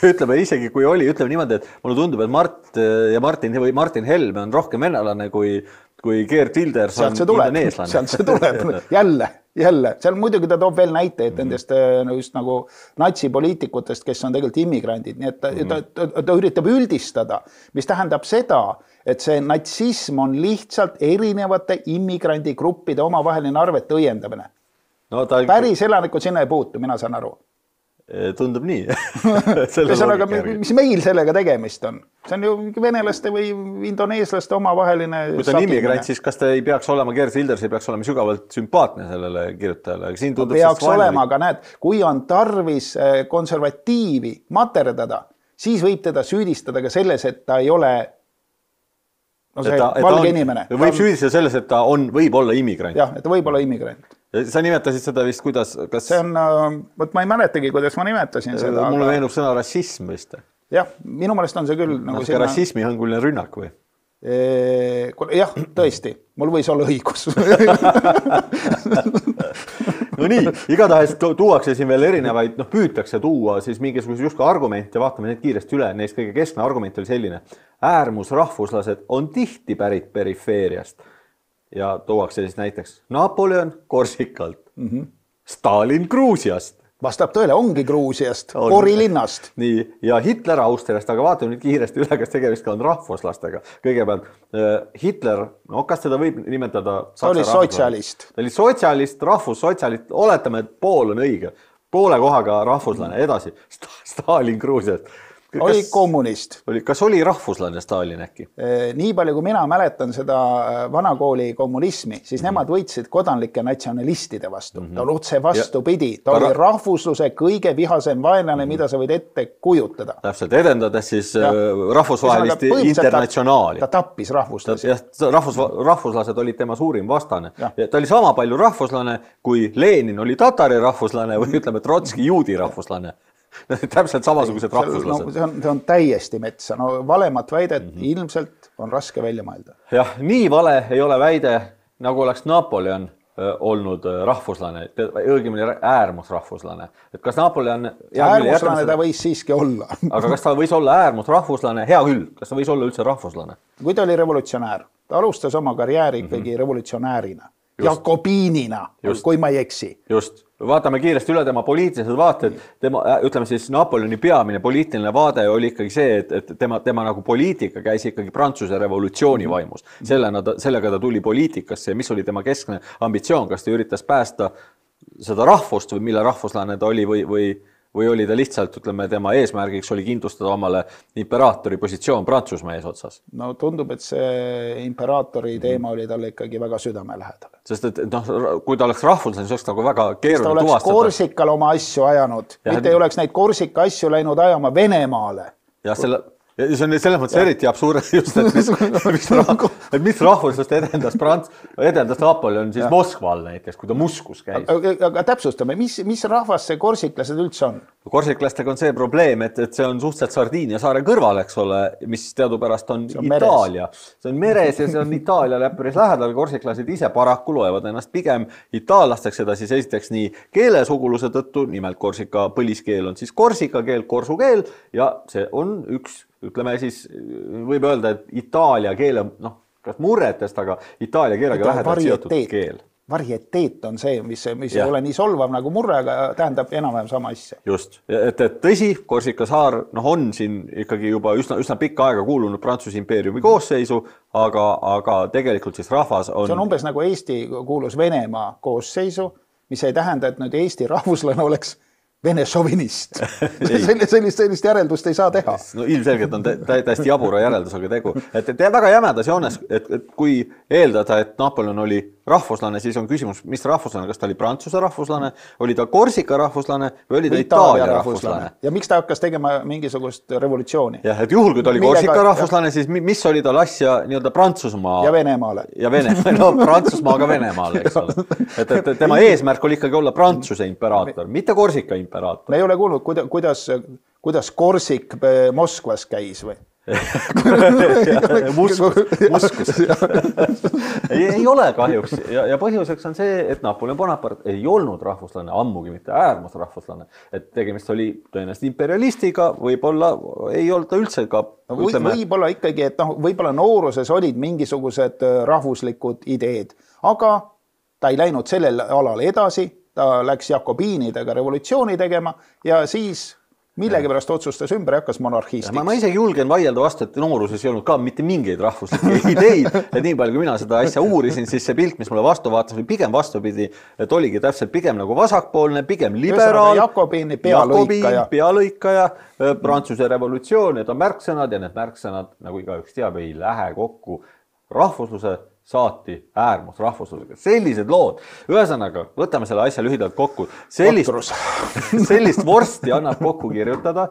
Ütleme isegi, kui oli, ütleme niimoodi, et mulle tundub, et Mart ja Martin või Martin Helme on rohkem venelane kui, kui Geert Wilders on indoneeslane. Sealt see tuleb. Jälle, jälle. Seal muidugi ta toob veel näiteid nendest no just nagu natsipoliitikutest, kes on tegelikult immigrandid. Nii et ta, mm. ta, ta, ta üritab üldistada, mis tähendab seda, et see natsism on lihtsalt erinevate immigrandigruppide omavaheline arvete õiendamine. No, ta... Päris elanikud sinna ei puutu, mina saan aru. Tundub nii. Aga, mis meil sellega tegemist on? See on ju venelaste või indoneeslaste omavaheline... Kui ta on immigrant, siis kas ta ei peaks olema, Geert Wilders ei peaks olema sügavalt sümpaatne sellele kirjutajale? Siin tundub peaks olema, aga näed, kui on tarvis konservatiivi materdada, siis võib teda süüdistada ka selles, et ta ei ole no see ta, valge on, inimene. Võib ta... süüdistada selles, et ta on, võib olla immigrant. Jah, et ta võib olla immigrant. Sa nimetasid seda vist, kuidas... Kas... See on, võt ma ei mäletagi, kuidas ma nimetasin seda. Mulle aga... meenub sõna rassism vist. Jah, minu meelest on see küll... Nagu sinna... rassismi hõnguline rünnak või? E... Jah, tõesti. Mul võis olla õigus. No nii, igatahes tuuakse siin veel erinevaid, noh püütakse tuua siis mingisuguse justkui argumente, vaatame need kiiresti üle, neist kõige keskne argument oli selline. Äärmusrahvuslased on tihti pärit perifeeriast. Ja tuuakse siis näiteks Napoleon Korsikalt, mm -hmm. Stalin Gruusiast. Vastab tõele, ongi Gruusiast, on. Pori linnast. Nii, ja Hitler Austriast, aga vaatame nüüd kiiresti üle, kas tegemist ka on rahvuslastega. Kõigepealt Hitler, no kas seda võib nimetada? Ta oli sotsialist. Ta oli sotsialist, rahvussotsialist, oletame, et pool on õige. Poole kohaga rahvuslane, edasi. Stalin Gruusiast. Oli kas, kommunist. Oli, kas oli rahvuslane Stalin äkki? Nii palju, kui mina mäletan seda vanakooli kommunismi, siis mm -hmm. nemad võitsid kodanlike natsionalistide vastu. Mm -hmm. Ta oli otse vastupidi. Ta oli rahvusluse kõige vihasem vaenlane, mm -hmm. mida sa võid ette kujutada. Täpselt, edendades siis ja. rahvusvahelist internatsionaali. Ta tappis rahvuslasi. Rahvus, rahvuslased olid tema suurim vastane. Ja. Ja ta oli sama palju rahvuslane, kui Lenin oli tatari rahvuslane või ütleme, Trotski juudi rahvuslane. Täpselt samasugused rahvuslased. No, see, on, see on täiesti metsa. No valemat väidet mm -hmm. ilmselt on raske välja mõelda. Jah, nii vale ei ole väide, nagu oleks Napoleon olnud rahvuslane, õigemini äärmusrahvuslane. Et kas Napoleon... Äärmuslane ta võis siiski olla. Aga kas ta võis olla äärmusrahvuslane? Hea küll, kas ta võis olla üldse rahvuslane? Kui ta oli revolutsionäär, ta alustas oma karjääri ikkagi mm -hmm. revolutsionäärina. Jakobiinina, kui ma ei eksi. Just. Vaatame kiiresti üle tema poliitilised vaated. Tema, ütleme siis, Napoleoni peamine poliitiline vaade oli ikkagi see, et, et tema, tema nagu poliitika käis ikkagi Prantsuse revolutsiooni vaimus. Sellega ta, sellega ta tuli poliitikasse ja mis oli tema keskne ambitsioon, kas ta üritas päästa seda rahvust või mille rahvuslane ta oli või, või, või oli ta lihtsalt, ütleme, tema eesmärgiks oli kindlustada omale imperaatori positsioon Prantsusmaa eesotsas? No tundub, et see imperaatori teema oli talle ikkagi väga südamelähedal. Sest et noh, kui ta oleks rahvuslane, see oleks nagu väga keeruline tuvastada. Ta oleks Korsikal oma asju ajanud, ja, mitte ei oleks neid Korsika asju läinud ajama Venemaale. Ja selle, ja see on selles mõttes eriti absurd just, et mis, mis, rah, et mis rahvuslust edendas Prants, edendas Napoleon siis ja. Moskval näiteks, kui ta Muskus käis. Aga, aga täpsustame, mis, mis rahvas see korsiklased üldse on? Korsiklastega on see probleem, et, et see on suhteliselt Sardiinia saare kõrval, eks ole, mis teadupärast on, on Itaalia. Meres. See on meres ja see on Itaaliale päris lähedal. Korsiklased ise paraku loevad ennast pigem itaallasteks, seda siis esiteks nii keelesuguluse tõttu, nimelt Korsika põliskeel on siis korsika keel, korsu keel ja see on üks, ütleme siis, võib öelda, et Itaalia keele, noh, kas murretest, aga Itaalia keelega lähedalt seotud keel. Varieteet on see, mis, mis ei ole nii solvav nagu murre, aga tähendab enam-vähem sama asja. Just, et, et tõsi, Korsika saar noh, on siin ikkagi juba üsna, üsna pikka aega kuulunud Prantsuse impeeriumi koosseisu, aga, aga tegelikult siis rahvas on... See on umbes nagu Eesti kuulus Venemaa koosseisu, mis ei tähenda, et nüüd Eesti rahvuslane oleks Vene šovinist. sellist, sellist, sellist järeldust ei saa teha. No ilmselgelt on täiesti jabura järeldusega tegu. Et, et väga jämedas joones, et, et kui eeldada, et Napoleon oli rahvuslane, siis on küsimus, mis rahvuslane, kas ta oli Prantsuse rahvuslane, oli ta Korsika rahvuslane või oli ta Itaalia, Itaalia rahvuslane. Ja miks ta hakkas tegema mingisugust revolutsiooni? Jah, et juhul, kui ta oli Millega, Korsika rahvuslane, siis mis oli tal asja nii-öelda Prantsusmaa? Ja Venemaale. Ja Venemaale, no Prantsusmaaga Venemaale, eks ole. Et, et tema eesmärk oli ikkagi olla Prantsuse imperaator, mitte Korsika imperaator. Me ei ole kuulnud, kuidas, kuidas Korsik Moskvas käis või? Muskus, muskus. ei, ei ole kahjuks ja, ja põhjuseks on see, et Napoleon Bonaparte ei olnud rahvuslane, ammugi mitte äärmusrahvuslane, et tegemist oli tõenäoliselt imperialistiga, võib-olla ei olnud ta üldse ka või, ütleme... võib-olla ikkagi, et noh, võib-olla nooruses olid mingisugused rahvuslikud ideed, aga ta ei läinud sellel alal edasi, ta läks jakobiinidega revolutsiooni tegema ja siis millegi pärast otsustas ümber ja hakkas monarhistiks. Ma, ma isegi julgen vaielda vastu, et nooruses ei olnud ka mitte mingeid rahvuslikke ideid, et nii palju, kui mina seda asja uurisin, siis see pilt, mis mulle vastu vaatas, oli pigem vastupidi, et oligi täpselt pigem nagu vasakpoolne, pigem liberaal, Jakobiini pealõikaja, pealõikaja, Prantsuse revolutsioon, need on märksõnad ja need märksõnad, nagu igaüks teab, ei lähe kokku rahvusluse saati äärmus rahvuslusega. Sellised lood. Ühesõnaga, võtame selle asja lühidalt kokku. Sellist, sellist vorsti annab kokku kirjutada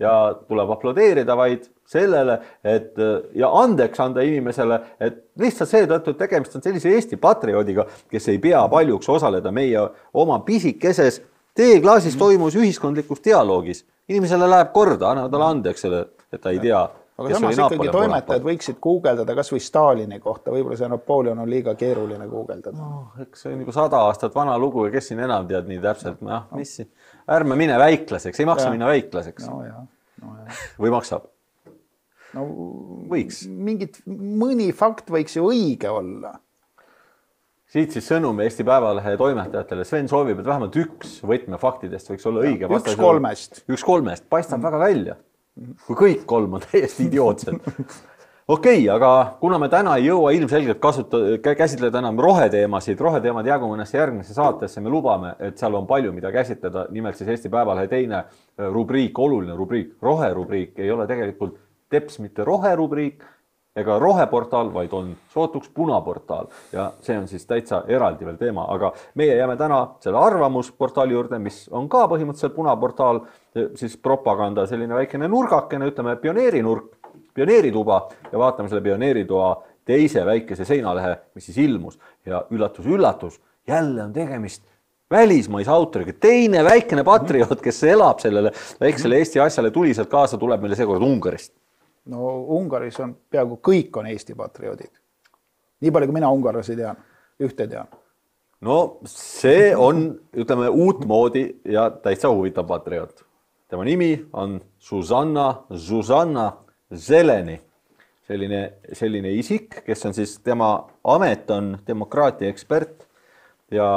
ja tuleb aplodeerida vaid sellele, et ja andeks anda inimesele, et lihtsalt seetõttu, et tegemist on sellise Eesti patrioodiga, kes ei pea paljuks osaleda meie oma pisikeses teeklaasis toimus ühiskondlikus dialoogis. Inimesele läheb korda, anna talle andeks selle, et ta ei tea. Aga samas ikkagi toimetajad võiksid guugeldada kas või Stalini kohta, võib-olla see Napoleon on liiga keeruline guugeldada. No, eks see on nagu sada aastat vana lugu ja kes siin enam tead nii täpselt, no, mis siin? Ärme mine väiklaseks, ei maksa ja. minna väiklaseks. No, ja. No, ja. Või maksab? No, võiks. Mingit, mõni fakt võiks ju õige olla. Siit siis sõnum Eesti Päevalehe toimetajatele. Sven soovib, et vähemalt üks võtmefaktidest võiks olla õige. Ja, üks kolmest. Üks kolmest, paistab mm. väga välja. Kui kõik kolm on täiesti idiootsed. Okei, okay, aga kuna me täna ei jõua ilmselgelt kasuta, käsitleda enam roheteemasid, roheteemad jagu mõnesse järgmisse saatesse, me lubame, et seal on palju, mida käsitleda. Nimelt siis Eesti Päevalehe teine rubriik, oluline rubriik, roherubriik ei ole tegelikult teps mitte roherubriik ega roheportaal, vaid on sootuks punaportaal ja see on siis täitsa eraldi veel teema, aga meie jääme täna selle arvamusportaali juurde, mis on ka põhimõtteliselt punaportaal, siis propaganda selline väikene nurgakene, ütleme pioneerinurk, pioneerituba ja vaatame selle pioneeritoa teise väikese seinalehe, mis siis ilmus ja üllatus, üllatus, jälle on tegemist välismaise autoriga, teine väikene patrioot, kes elab sellele väiksele Eesti asjale tuliselt kaasa, tuleb meile seekord Ungarist. No Ungaris on peaaegu kõik on Eesti patrioodid. Nii palju, kui mina ungarlasi tean, ühte tean. No see on, ütleme, uutmoodi ja täitsa huvitav patrioot. Tema nimi on Susanna, Susanna Zeleni. Selline, selline isik, kes on siis, tema amet on demokraatia ekspert ja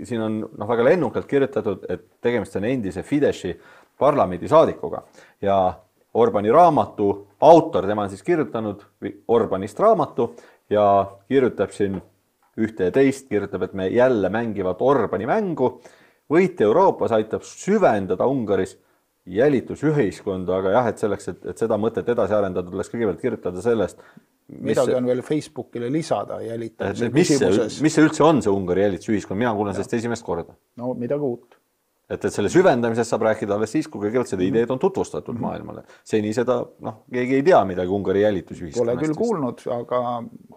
siin on no, väga lennukalt kirjutatud, et tegemist on endise Fideszi parlamendi saadikuga ja Orbani raamatu autor, tema on siis kirjutanud Orbanist raamatu ja kirjutab siin ühte ja teist, kirjutab, et me jälle mängivad Orbani mängu. Võit Euroopas aitab süvendada Ungaris jälitusühiskonda, aga jah, et selleks, et, et seda mõtet edasi arendada, tuleks kõigepealt kirjutada sellest. Midagi on veel Facebookile lisada jälitamise küsimuses. Mis see üldse on see Ungari jälitusühiskond? Mina kuulen sellest esimest korda. No midagi uut. et, et selle süvendamisest saab rääkida alles siis, kui kõigepealt seda ideed on tutvustatud mm-hmm. maailmale. Seni seda, noh, keegi ei tea midagi Ungari jälitusühiskonnast. Pole küll kuulnud, aga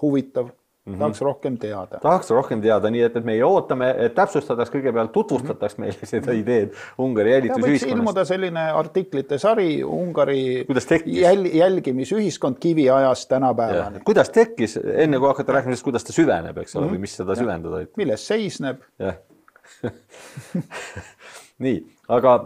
huvitav. Mm-hmm. Tahaks rohkem teada. Tahaks rohkem teada, nii et, et meie ootame, et täpsustataks kõigepealt, tutvustataks mm-hmm. meile seda ideed Ungari jälitusühiskonnast. Võiks ilmuda selline artiklite sari Ungari jäl, jälgimisühiskond kiviajast tänapäevani. Kuidas tekkis, enne kui hakata rääkimisest, kuidas ta süveneb, eks ole, mm-hmm. või mis seda ja. Süvendada? Milles seisneb? Jah. Nii, aga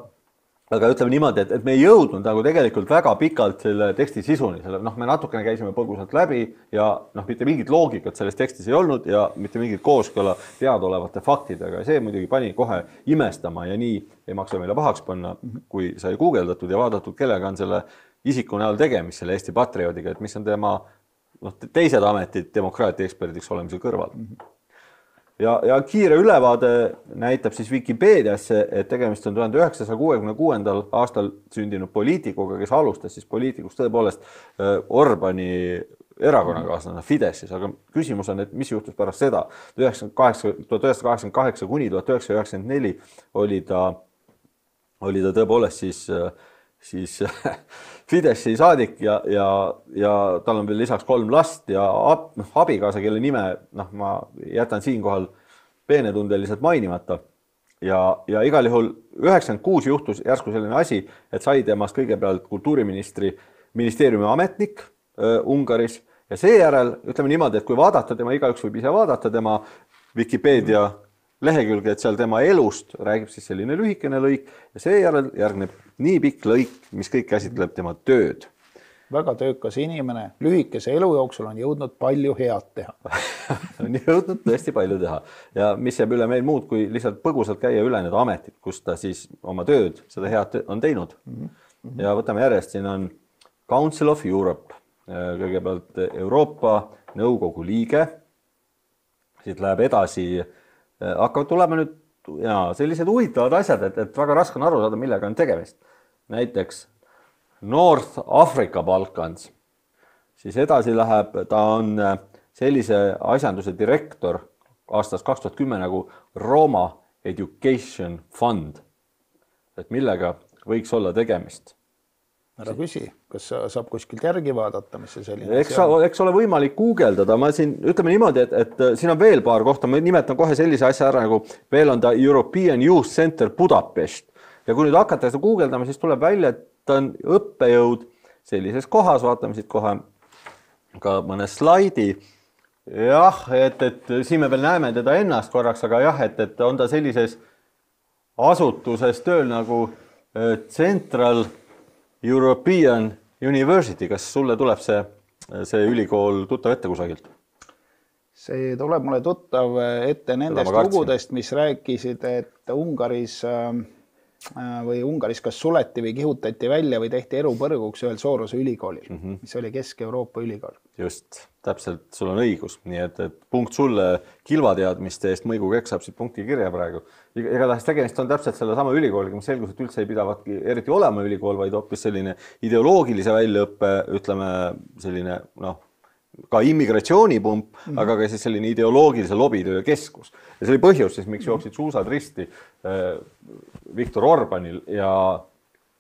aga ütleme niimoodi, et, et me ei jõudnud nagu tegelikult väga pikalt selle teksti sisuni, selle, noh, me natukene käisime põgusalt läbi ja noh, mitte mingit loogikat selles tekstis ei olnud ja mitte mingit kooskõla teadaolevate faktidega ja see muidugi pani kohe imestama ja nii ei maksa meile pahaks panna, kui sai guugeldatud ja vaadatud, kellega on selle isiku näol tegemist, selle Eesti patrioodiga, et mis on tema noh, teised ametid demokraatia eksperdiks olemise kõrval. Ja, ja kiire ülevaade näitab siis Wikipeediasse, et tegemist on tuhande üheksasaja kuuekümne kuuendal aastal sündinud poliitikuga, kes alustas siis poliitikuks tõepoolest Orbani erakonnakaaslane Fidesis, aga küsimus on, et mis juhtus pärast seda. tuhat üheksasada kaheksakümmend kaheksa kuni tuhat üheksasada üheksakümmend neli oli ta, oli ta tõepoolest siis siis Fideszi saadik ja, ja, ja tal on veel lisaks kolm last ja ab, noh, abikaasa, kelle nime noh, ma jätan siinkohal peenetundeliselt mainimata. Ja, ja igal juhul üheksakümmend kuus juhtus järsku selline asi, et sai temast kõigepealt kultuuriministri ministeeriumi ametnik äh, Ungaris ja seejärel, ütleme niimoodi, et kui vaadata tema, igaüks võib ise vaadata tema Wikipeedia lehekülge, et seal tema elust räägib siis selline lühikene lõik ja seejärel järgneb nii pikk lõik, mis kõik käsitleb tema tööd. Väga töökas inimene, lühikese elu jooksul on jõudnud palju head teha. on jõudnud tõesti palju teha ja mis jääb üle meil muud, kui lihtsalt põgusalt käia üle need ametid, kus ta siis oma tööd, seda head on teinud. Mm-hmm. Ja võtame järjest, siin on Council of Europe, kõigepealt Euroopa Nõukogu liige, siit läheb edasi, hakkavad tulema nüüd ja sellised huvitavad asjad, et, et väga raske on aru saada, millega on tegemist. Näiteks North Africa Balkans, siis edasi läheb, ta on sellise asjanduse direktor aastast kaks tuhat kümme nagu Roma Education Fund, et millega võiks olla tegemist. Ära küsi, kas saab kuskilt järgi vaadata, mis see selline eks, eks ole võimalik guugeldada, ma siin ütleme niimoodi, et, et siin on veel paar kohta, ma nimetan kohe sellise asja ära, nagu veel on ta European Youth Center Budapest ja kui nüüd hakata seda guugeldama, siis tuleb välja, et ta on õppejõud sellises kohas, vaatame siit kohe ka mõne slaidi. Jah, et, et siin me veel näeme teda ennast korraks, aga jah, et, et on ta sellises asutuses tööl nagu Central European University, kas sulle tuleb see, see ülikool tuttav ette kusagilt? See tuleb mulle tuttav ette nendest lugudest, mis rääkisid, et Ungaris või Ungaris kas suleti või kihutati välja või tehti erupõrguks ühel Soorose ülikoolil, mm -hmm. mis oli Kesk-Euroopa ülikool. Just, täpselt, sul on õigus. Nii et, et punkt sulle kilvateadmiste eest Mõigu Kekk saab siit punkti kirja praegu. Igatahes tegemist on täpselt selle sama ülikooliga, mis selgus, et üldse ei pidavatki eriti olema ülikool, vaid hoopis selline ideoloogilise väljaõppe, ütleme selline, noh, ka immigratsioonipump, mm -hmm. aga ka siis selline ideoloogilise lobitöö keskus. Ja see oli põhjus, siis, miks jooksid suusad risti äh, Viktor Orbanil ja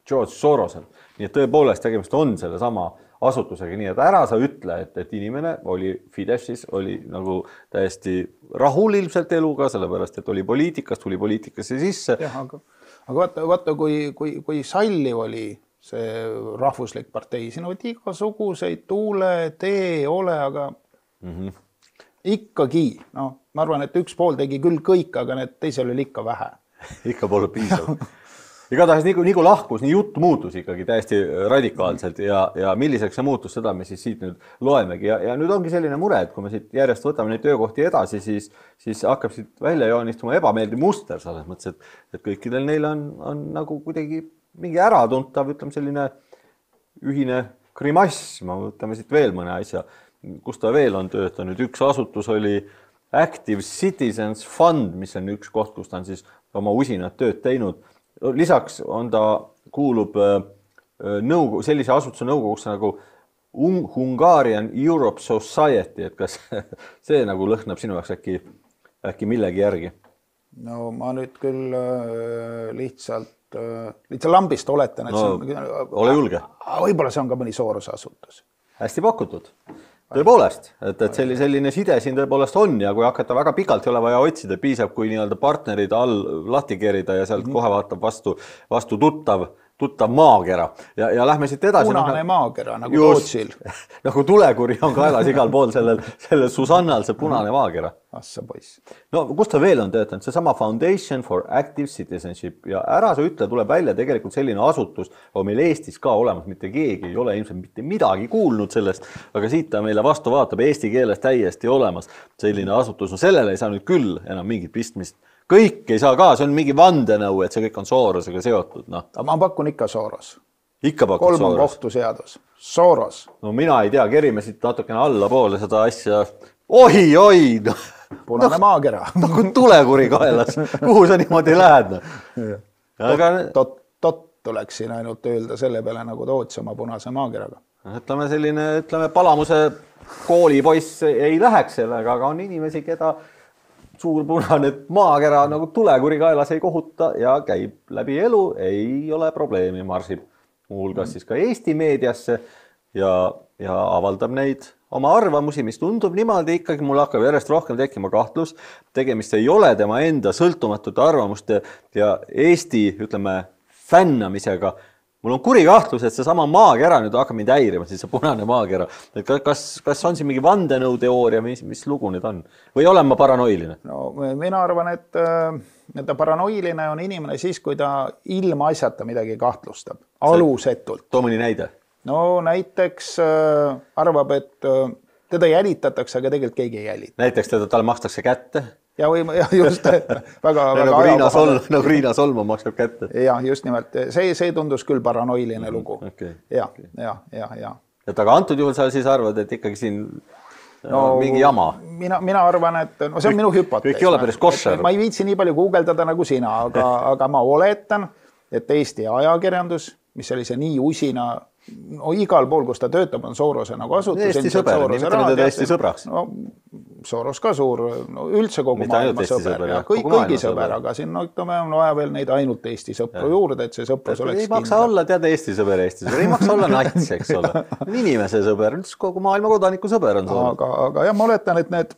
George Sorosel. Nii et tõepoolest tegemist on selle sama asutusega, nii et ära sa ütle, et, et inimene oli Fidesis, oli nagu täiesti rahul ilmselt eluga, sellepärast, et oli poliitikas, tuli poliitikasse sisse. Jah, aga, aga vaata, vaata kui, kui, kui salliv oli see rahvuslik partei, siin olid igasuguseid tuule, tee, ole, aga mm -hmm. ikkagi, noh, ma arvan, et üks pool tegi küll kõik, aga need teisel oli ikka vähe. ikka pole piisav. Igatahes nii, nii kui lahkus, nii jutt muutus ikkagi täiesti radikaalselt ja, ja milliseks see muutus, seda me siis siit nüüd loemegi. Ja, ja nüüd ongi selline mure, et kui me siit järjest võtame neid töökohti edasi, siis, siis hakkab siit välja joonistuma ebameeldiv muster selles mõttes, et, et kõikidel neil on, on nagu kuidagi mingi äratuntav, ütleme selline ühine grimass. Ma võtame siit veel mõne asja, kus ta veel on töötanud. Üks asutus oli Active Citizens Fund, mis on üks koht, kus ta on siis oma usinat tööd teinud. Lisaks on ta, kuulub nõukogu, sellise asutuse nõukogusse nagu Hungarian Europe Society, et kas see nagu lõhnab sinu jaoks äkki, äkki millegi järgi? no ma nüüd küll lihtsalt, lihtsalt lambist oletan, et no, see on, ole julge. Võib-olla see on ka mõni Sorose asutus. Hästi pakutud. Tõepoolest, et, et selline, selline side siin tõepoolest on ja kui hakata väga pikalt ei ole vaja otsida, piisab, kui nii-öelda partnerid all lahti kerida ja sealt mm-hmm. kohe vaatab vastu, vastu tuttav, tuttav maakera. Ja, ja lähme siit edasi. Punane no, maakera, nagu Tootsil. Nagu tulekuri on kaelas igal pool sellel, sellel Susannal see punane maakera. Assa poiss. No kus ta veel on töötanud? See sama Foundation for Active Citizenship ja ära sa ütle, tuleb välja tegelikult selline asutus, on meil Eestis ka olemas, mitte keegi ei ole ilmselt mitte midagi kuulnud sellest, aga siit ta meile vastu vaatab eesti keeles täiesti olemas selline asutus. No sellele ei saa nüüd küll enam mingit pistmist. Kõik ei saa ka, see on mingi vandenõu, et see kõik on Sorosega seotud. No. Ma pakun ikka Soros. Ikka pakun Kolm Soros. Kolm on kohtuseadus. Soros. No mina ei tea, kerime siit natukene alla poole seda asja. Oi, oi! No. Punane no, maakera. Nagu tulekuri kaelas. Kuhu sa niimoodi lähed? No? Aga... Tot, tot, tot tuleks siin ainult öelda selle peale nagu Toots oma punase maakeraga. Ütleme selline, ütleme, Palamuse koolipoiss ei läheks sellega, aga on inimesi, keda suur punane maakera nagu tulekuri kaelas ei kohuta ja käib läbi elu, ei ole probleemi, marsib muuhulgas siis ka Eesti meediasse ja, ja avaldab neid oma arvamusi, mis tundub niimoodi ikkagi, mul hakkab järjest rohkem tekkima kahtlus, tegemist ei ole tema enda sõltumatute arvamuste ja Eesti, ütleme, fännamisega. Mul on kuri kahtlus, et see sama maakera nüüd hakkab mind häirima, siis see punane maakera. Et kas, kas on siin mingi vandenõuteooria, mis, mis lugu nüüd on? Või olen ma paranoiline? No, mina arvan, et, et ta paranoiline on inimene siis, kui ta ilma asjata midagi kahtlustab. Alusetult. Too mõni näide. No näiteks äh, arvab, et äh, teda jälitatakse, aga tegelikult keegi ei jälita. Näiteks teda talle makstakse kätte? Ja, või, ja just väga, väga nagu, Riina Sol, nagu Riina Solma maksab kätte. Ja just nimelt, see, see tundus küll paranoiline mm, lugu. Okay, ja, okay. ja, ja, ja. Et aga antud juhul sa siis arvad, et ikkagi siin no, mingi jama? Mina, mina arvan, et no, see on minu hüpotees. Kõik ei ole päris koššer. Ma ei viitsi nii palju guugeldada nagu sina, aga, aga ma oletan, et Eesti ajakirjandus, mis oli see nii usina, no igal pool, kus ta töötab, on Sorose nagu asutus. Eesti sõber, nimetame teda Eesti sõbraks. No, Soros ka suur, no üldse kogu Mitte maailma sõber, sõber ja kõik, kõigi sõber, aga siin no, ütleme, on vaja veel neid ainult Eesti sõpru ja. Juurde, et see sõprus oleks ei maksa kindla. Olla, tead, Eesti sõber, Eesti sõber, ei maksa olla nats, eks ole. Inimese sõber, kogu maailma kodaniku sõber on Soros. Aga, aga jah, ma oletan, et need,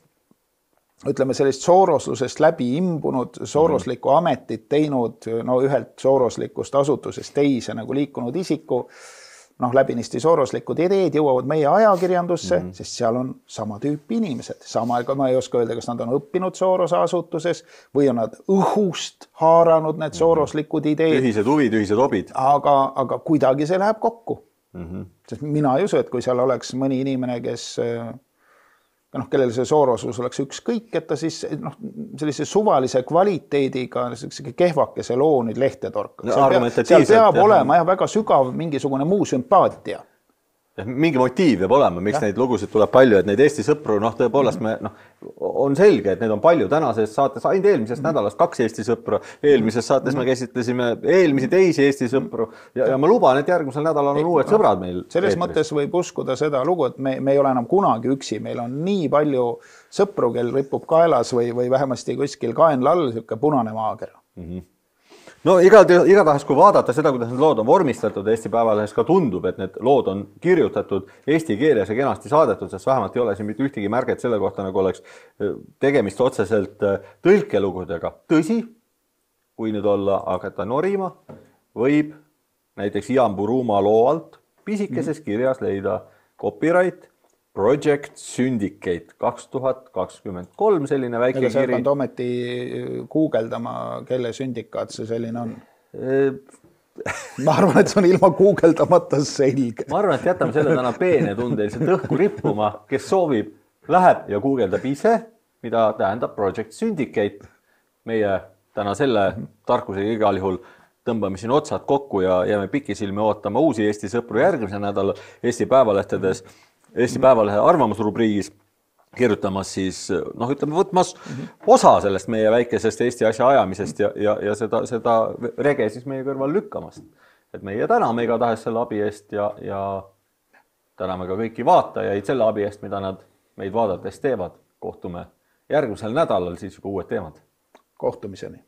ütleme, sellist sooroslusest läbi imbunud, sooroslikku mm. ametit teinud, no ühelt sooroslikust asutusest teise nagu liikunud isiku, noh, läbinisti sooroslikud ideed jõuavad meie ajakirjandusse, mm. sest seal on sama tüüpi inimesed. Sama, ma ei oska öelda, kas nad on õppinud Sorose asutuses või on nad õhust haaranud need sooroslikud ideed. Ühised huvid, ühised hobid. Aga, aga kuidagi see läheb kokku. Mm-hmm. Sest mina ei usu, et kui seal oleks mõni inimene, kes... noh, kellel see soorosus oleks ükskõik, et ta siis noh, sellise suvalise kvaliteediga kehvakese loo nüüd lehte torkaks. No, seal peab, seal peab jah. olema jah, väga sügav mingisugune muu sümpaatia. Mingi motiiv peab olema, miks ja. Neid lugusid tuleb palju, et neid Eesti sõpru, noh, tõepoolest me, noh, on selge, et need on palju tänases saates, ainult eelmisest mm. nädalast kaks Eesti sõpru, eelmises saates mm. me käsitlesime eelmisi teisi Eesti sõpru ja, ja ma luban, et järgmisel nädalal on uued sõbrad meil. Selles eetris. Mõttes võib uskuda seda lugu, et me, me ei ole enam kunagi üksi, meil on nii palju sõpru, kel ripub kaelas või, või vähemasti kuskil kaenla all siuke punane maakera. Mm-hmm. No igatahes, kui vaadata seda, kuidas need lood on vormistatud Eesti Päevalehes, ka tundub, et need lood on kirjutatud eesti keeles ja kenasti saadetud, sest vähemalt ei ole siin mitte ühtegi märget selle kohta, nagu oleks tegemist otseselt tõlkelugudega. Tõsi, kui nüüd olla hakata norima, võib näiteks Ian Buruma loo alt pisikeses kirjas leida copyright Project Syndicate kaks tuhat kakskümmend kolm, selline väike kiri. Ega kiri. sa ometi guugeldama, kelle sündikaat see selline on? Ma arvan, et see on ilma guugeldamata selge. Ma arvan, et jätame selle täna peene tundeiliselt õhku rippuma, kes soovib, läheb ja guugeldab ise, mida tähendab Project Syndicate. Meie täna selle tarkusega igal juhul tõmbame siin otsad kokku ja jääme pikisilmi ootama uusi Eesti sõpru järgmise nädala Eesti Päevalehtedes. Eesti Päevalehe arvamusrubriigis kirjutamas siis, noh, ütleme, võtmas osa sellest meie väikesest Eesti asja ajamisest ja, ja, ja seda, seda rege siis meie kõrval lükkamast. Et meie täname igatahes selle abi eest ja, ja täname ka kõiki vaatajaid selle abi eest, mida nad meid vaadates teevad. Kohtume järgmisel nädalal siis juba uued teemad. kohtumiseni.